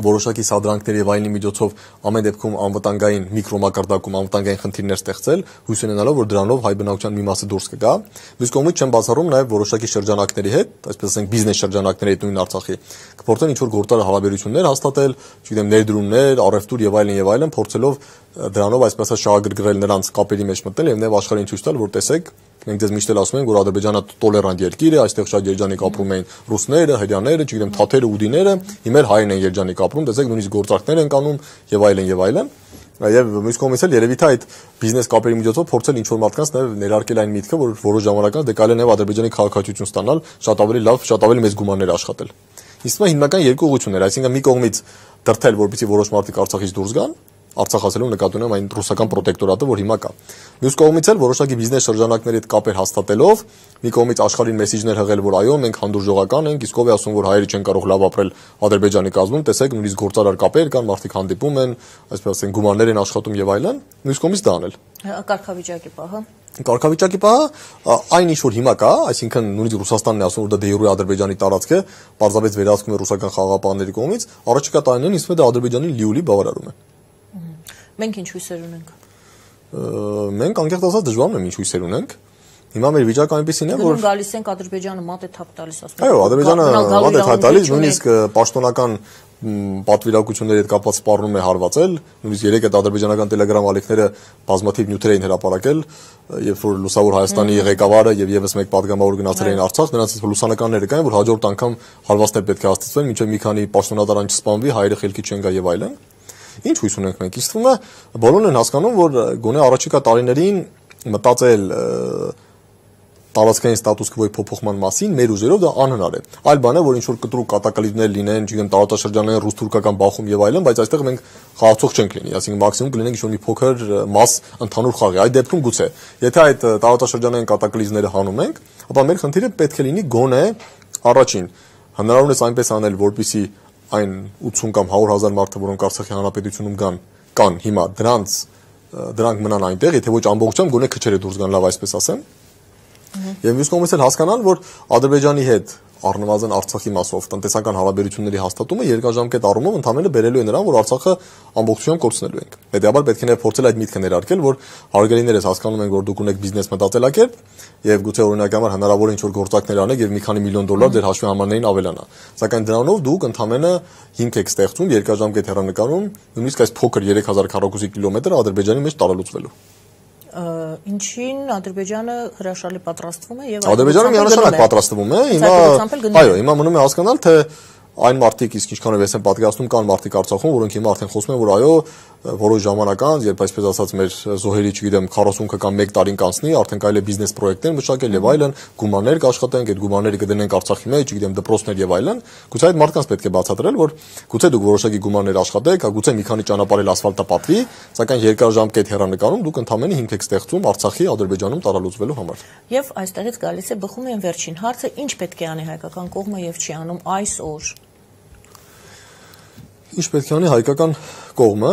որոշակի սադրանքների եւ այլնի միջոցով ամեն դեպքում անվտանգային միկրոմակարդակում անվտանգային խնդիրներ ստեղծել, հույս ունենալով, որ դրանով հայ բնակության մի մասը դուրս կգա։ Մյուս կողմից չեմ բացառում նաեւ որոշակի շրջանակների հետ, այսպես ասենք բիզնես շրջանակների հետ նույն Արցախի, կփորձեն ինչ-որ գործար հարաբերություններ հաստատել, չգիտեմ, ներդրումներ, առևտուր եւ այլն, փորձելով դրանով այսպես ասած շահագրգռել նրանց կապերի մեջ մտնել եւ նաեւ աշխարհին ցույց տալ, որ տեսեք, մենք դες միշտ էլ ասում ենք, որ Ադրբեջանը տոլերանտ երկիր է, այստեղ շատ երջանիկ ապրում են ռուսները, հրեաները, չգիտեմ, թաթերը, ուդիները, հիմա հայերն են երջանիկ ապրում, տեսեք, նույնիսկ գործարքներ են անում եւ այլն։ Եվ մյուս կողմից էլ երևի թե այդ բիզնես կապերի միջոցով փորձել ինչ-որ մարդկանց նաեւ ներարկել այն միտքը, որ որոշ ժամանակ անց դե կարելի է նաեւ Ադրբեջանի քաղաքացիություն ստանալ, շատ ավելի լավ, շատ ավելի մեծ գումարներ աշխատել։ Իսկ հիմնական երկու ուղղություններ, այսինքն մի կողմից դրթել, որպեսզի որոշ մարդիկ Արցախից դուրս գան, Արցախ ասելով նկատի ունեմ այն ռուսական պրոտեկտորատը, որ հիմա կա։ Մյուս կողմից էլ որոշակի բիզնես շրջանակների հետ կապեր հաստատելով, մի կողմից աշխարհին մեսիջներ հղել, որ այո, մենք հանդուրժողական ենք, իսկ ով է ասում, որ հայերը չեն կարող լավ ապրել Ադրբեջանի կազմում, տեսեք, նույնիսկ գործարար կապեր կան, մարդիկ հանդիպում են, այսպես ասենք, գումարներ են աշխատում եւ այլն, մյուս կողմից դա անել։ Կարգավիճակի պահը։ Կարգավիճակի պահը այն ինչ որ հիմա կա, այսինքն նույնիսկ Ռուսաստանն է ասում, որ դա դե Ադրբեջանի տարածք է, պարզապես վերահսկում է ռուսական խաղաղապահների կողմից, առաջիկա տարիներին ինձ թվում է դա Ադրբեջանի լիոլի բավարարում է։ Մենք ինչ հույսեր ունենք։ Մենք անկեղծ ասած դժվար ունեմ ինչ հույսեր ունենք։ Հիմա մեր վիճակը այնպեսին է, որ գալիս ենք Ադրբեջանը մատ է թափ տալիս, ասում։ Այո, Ադրբեջանը մատ է թափ տալիս, նույնիսկ պաշտոնական պատվիրակությունների հետ կապված սպառնում է հարվածել, նույնիսկ երեք այդ ադրբեջանական տելեգրամ ալիքները բազմաթիվ նյութեր էին հրապարակել, երբ որ Լուսավոր Հայաստանի ղեկավարը եւ եւս մեկ падգամավոր գնացել էին Արցախ, նրանց լուսանկարները կային, որ հաջորդ անգամ հարվածներ պետք է հաստատվեն, մինչեւ մի քանի պաշտոնատարան չսպանվի, հայերը խելքի չեն գա եւ այլն։ Ինչ հույս ունենք մենք։ Իսկ թվում է բոլորն են հասկանում, որ գոնե առաջիկա տարիներին մտածել տարածքային ստատուս քվոյի փոփոխման մասին մեր ուժերով դա անհնար է։ Այլ բան է, որ ինչ որ կտրուկ կատակլիզմներ լինեն, չգիտեմ, տարածաշրջանային ռուս-թուրքական բախում եւ այլն, բայց այստեղ մենք խաղացող չենք լինի, այսինքն մաքսիմում կլինենք ինչ որ մի փոքր մաս ընդհանուր խաղի։ Այդ դեպքում գուցե, եթե այդ տարածաշրջանային կատակլիզմները հանում ենք, ապա մեր խնդիրը պետք է լինի գոնե առաջին հնարավորինս այնպես անել, որպեսզի այն 80 կամ 100,000 մարդը, որոնք Արցախի հանրապետությունում կան հիմա, դրանք մնան այնտեղ, եթե ոչ ամբողջությամբ գոնե քչերը դուրս գան, լավ այսպես ասեմ։ Եվ մյուս կողմից էլ հասկանալ, որ Ադրբեջանի հետ առնվազն Արցախի մասով տնտեսական հարաբերությունների հաստատումը երկարաժամկետ առումով ընդհանրապես բերելու է նրան, որ Արցախը ամբողջությամբ կորցնելու ենք։ Հետևաբար պետք է նաև փորձել այդ միտքը ներարկել, որ հարգելիներս հասկանում ենք, որ դուք ունեք բիզնես մտածելակերպ եւ գուցե օրինակ համար հնարավոր է ինչ-որ գործակներ անեք եւ մի քանի միլիոն դոլար ձեր հաշվի համարներին ավելանա։ Սակայն դրանով դուք ընդհանրապես հիմք եք ստեղծում երկարաժամկետ հեռանկարում, նույնիսկ այս փոքր 3000 քառակուսի կիլոմետր Ադրբեջանի մեջ տարալուծվելու։ Ինչին Ադրբեջանը հրաշալի պատրաստվում է եւ Ադրբեջանը միանշանակ պատրաստվում է։ Հիմա մնում է հասկանալ, թե այն մարդիկ իսկ ինչքանով ես եմ պատկերացնում կան մարդիկ Արցախում, որոնք հիմա արդեն խոսում են, որ այո, որոշ ժամանակ անց, երբ այսպես ասած մեր զոհերի, չգիտեմ, 40 կամ 1 տարին կանցնի, արդեն կարելի է բիզնես պրոյեկտներ մշակել եւ այլն, գումարներ կաշխատենք, այդ գումարները կդնենք Արցախի մեջ, չգիտեմ, դպրոցներ եւ այլն։ Գուցե այդ մարդկանց պետք է բացատրել, որ գուցե դուք որոշակի գումարներ աշխատեք, գուցե մի քանի ճանապարհել ասֆալտը պատվի, սակայն երկարաժամկետ հեռանկարում դուք ընդհանրապես հիմք եք ստեղծում Արցախի Ադրբեջանում տարալուծվելու համար։ Եվ այստեղից գալիս է բխում են վերջին հարցը, ինչ պետք է անի հայկական կողմը եւ չի անում այսօր։ Ինչ պետք է անի հայկական կողմը։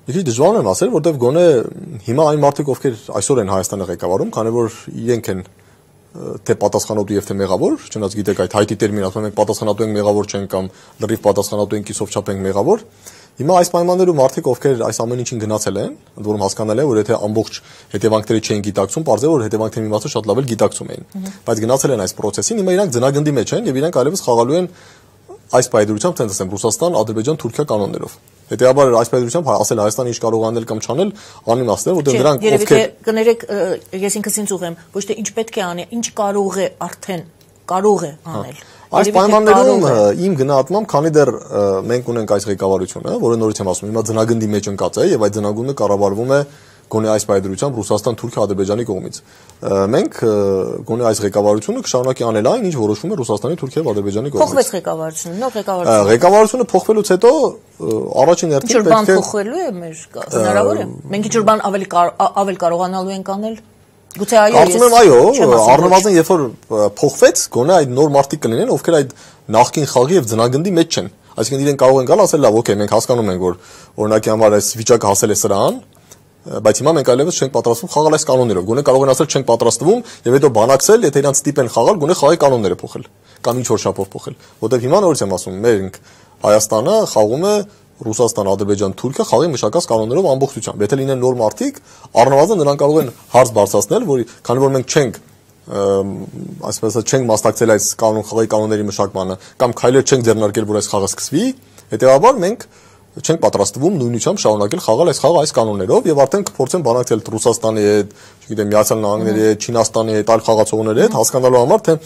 Մի քիչ դժվար եմ ասել, որտեղ գոնե հիմա այն մարդիկ, ովքեր այսօր են Հայաստանը ղեկավարում, քանի որ իրենք են թե պատասխանատու եւ թե մեղավոր, չնայած գիտեք այդ հայտի տերմին ասում ենք պատասխանատու ենք մեղավոր չենք կամ լրիվ պատասխանատու ենք կիսով չափ ենք մեղավոր։ Հիմա այս պայմաններում մարդիկ, ովքեր այս ամեն ինչին գնացել են, ընդ որում հասկանալ է, որ եթե ամբողջ հետևանքները չեն գիտակցում, բարձր որ հետևանքների մի մասը շատ լավ էլ գիտակցում էին։ Բայց գնացել են այս process-ին, հիմա իրանք ձնագնդի մեջ են եւ իրանք այլևս խաղալու են այս պայդրությամբ ցենց ասեմ Ռուսաստան, Ադրբեջան, Թուրքիա կանոններով։ Հետեւաբար այս պայդրությամբ ասել Հայաստանը ինչ կարող անել կամ չանել, անիմաստ է, որտեղ նրանք ովքեր կներեք, ես ինքս ինձ ուղեմ, ոչ թե ինչ պետք է անի, ինչ կարող է արդեն կարող է անել։ Այս պայմաններում իմ գնահատմամբ, քանի դեռ մենք ունենք այս ղեկավարությունը, որը նորից եմ ասում, հիմա ձնագնդի մեջ ընկած է եւ այդ ձնագունդը կառավարվում է գոնե այս պայդրությամբ Ռուսաստան, Թուրքիա, Ադրբեջանի կողմից։ Մենք գոնե այս ղեկավարությունը կշարունակի անել այն, ինչ որոշվում է Ռուսաստանի, Թուրքիա եւ Ադրբեջանի կողմից։ Փոխվեց ղեկավարությունը, նոր ղեկավարությունը։ Ղեկավարությունը փոխվելուց հետո առաջին հերթին պետք է փոխվելու է մեր հնարավոր է։ Մենք ինչ-որ բան ավել կարողանալու ենք անել։ Գուցե այո։ Կարծում եմ այո, առնվազն երբ որ փոխվեց, գոնե այդ նոր մարդիկ կլինեն, ովքեր այդ նախկին խաղի եւ ձնագնդի մեջ չեն։ Այսինքն իրենք կարող են գալ ասել լավ, օքեյ, մենք հասկանում ենք, որ օրինակի համար այս վիճակը հասել է սրան, բայց հիմա մենք այլևս չենք պատրաստվում խաղալ այս կանոններով։ Գոնե կարող են ասել չենք պատրաստվում եւ հետո բանակցել, եթե իրանց ստիպեն խաղալ, գոնե խաղի կանոնները փոխել կամ ինչ որ շապով փոխել։ Որտեղ հիմա նորից եմ ասում, մենք Հայաստանը խաղում է Ռուսաստան, Ադրբեջան, Թուրքիա խաղի մշակած կանոններով ամբողջությամբ։ Եթե լինեն նոր մարդիկ, առնվազն նրանք կարող են հարց բարձրացնել, որ քանի որ մենք չենք այսպես ասած չենք մասնակցել այս խաղի կանոնների մշակմանը կամ քայլեր չենք ձեռնարկել, որ այս խաղը սկսվի, հետեւաբար մենք չենք պատրաստվում նույնությամբ շարունակել խաղալ այս խաղը այս կանոններով եւ արդեն կփորձեն բանակցել Ռուսաստանի հետ, չգիտեմ, Միացյալ Նահանգների հետ, Չինաստանի հետ, այլ խաղացողների հետ, հասկանալու համար թե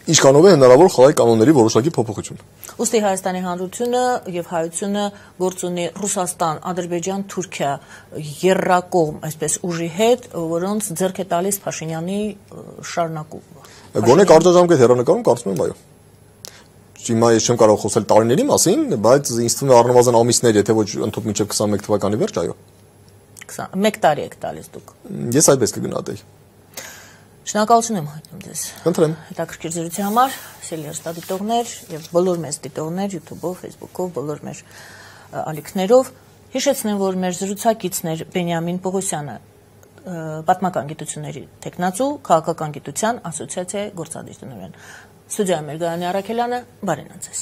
ինչքանով է հնարավոր խաղի կանոնների որոշակի փոփոխություն։ Ոստի Հայաստանի Հանրությունը եւ Հայությունը գործ ունի Ռուսաստան, Ադրբեջան, Թուրքիա երրակողմ այսպես ուժի հետ, որոնց ձեռք է տալիս Փաշինյանի շարունակումը։ Գոնե կարճաժամկետ հեռանկարում կարծում եմ այո։ Հիմա ես չեմ կարող խոսել տարիների մասին, բայց ինձ թվում է առնվազն ամիսներ, եթե ոչ ընդհանուր մինչև 21 թվականի վերջ, այո։ 1 տարի եք տալիս դուք։ Ես այդպես կգնահատեի։ Շնորհակալություն եմ հայտնում ձեզ։ Խնդրեմ։ Հետաքրքիր զրույցի համար, սիրելի հեռուստադիտողներ եւ բոլոր մեծ դիտողներ YouTube-ով, Facebook-ով, բոլոր մեր ալիքներով, հիշեցնեմ, որ մեր զրուցակիցներ Բենյամին Պողոսյանը, պատմական գիտությունների տեխնացու, քաղաքական գիտության ասոցիացիայի գործադիր տնօրեն։ Ստուդիայում էր Գայանե Արաքելյանը, բարենան ձեզ։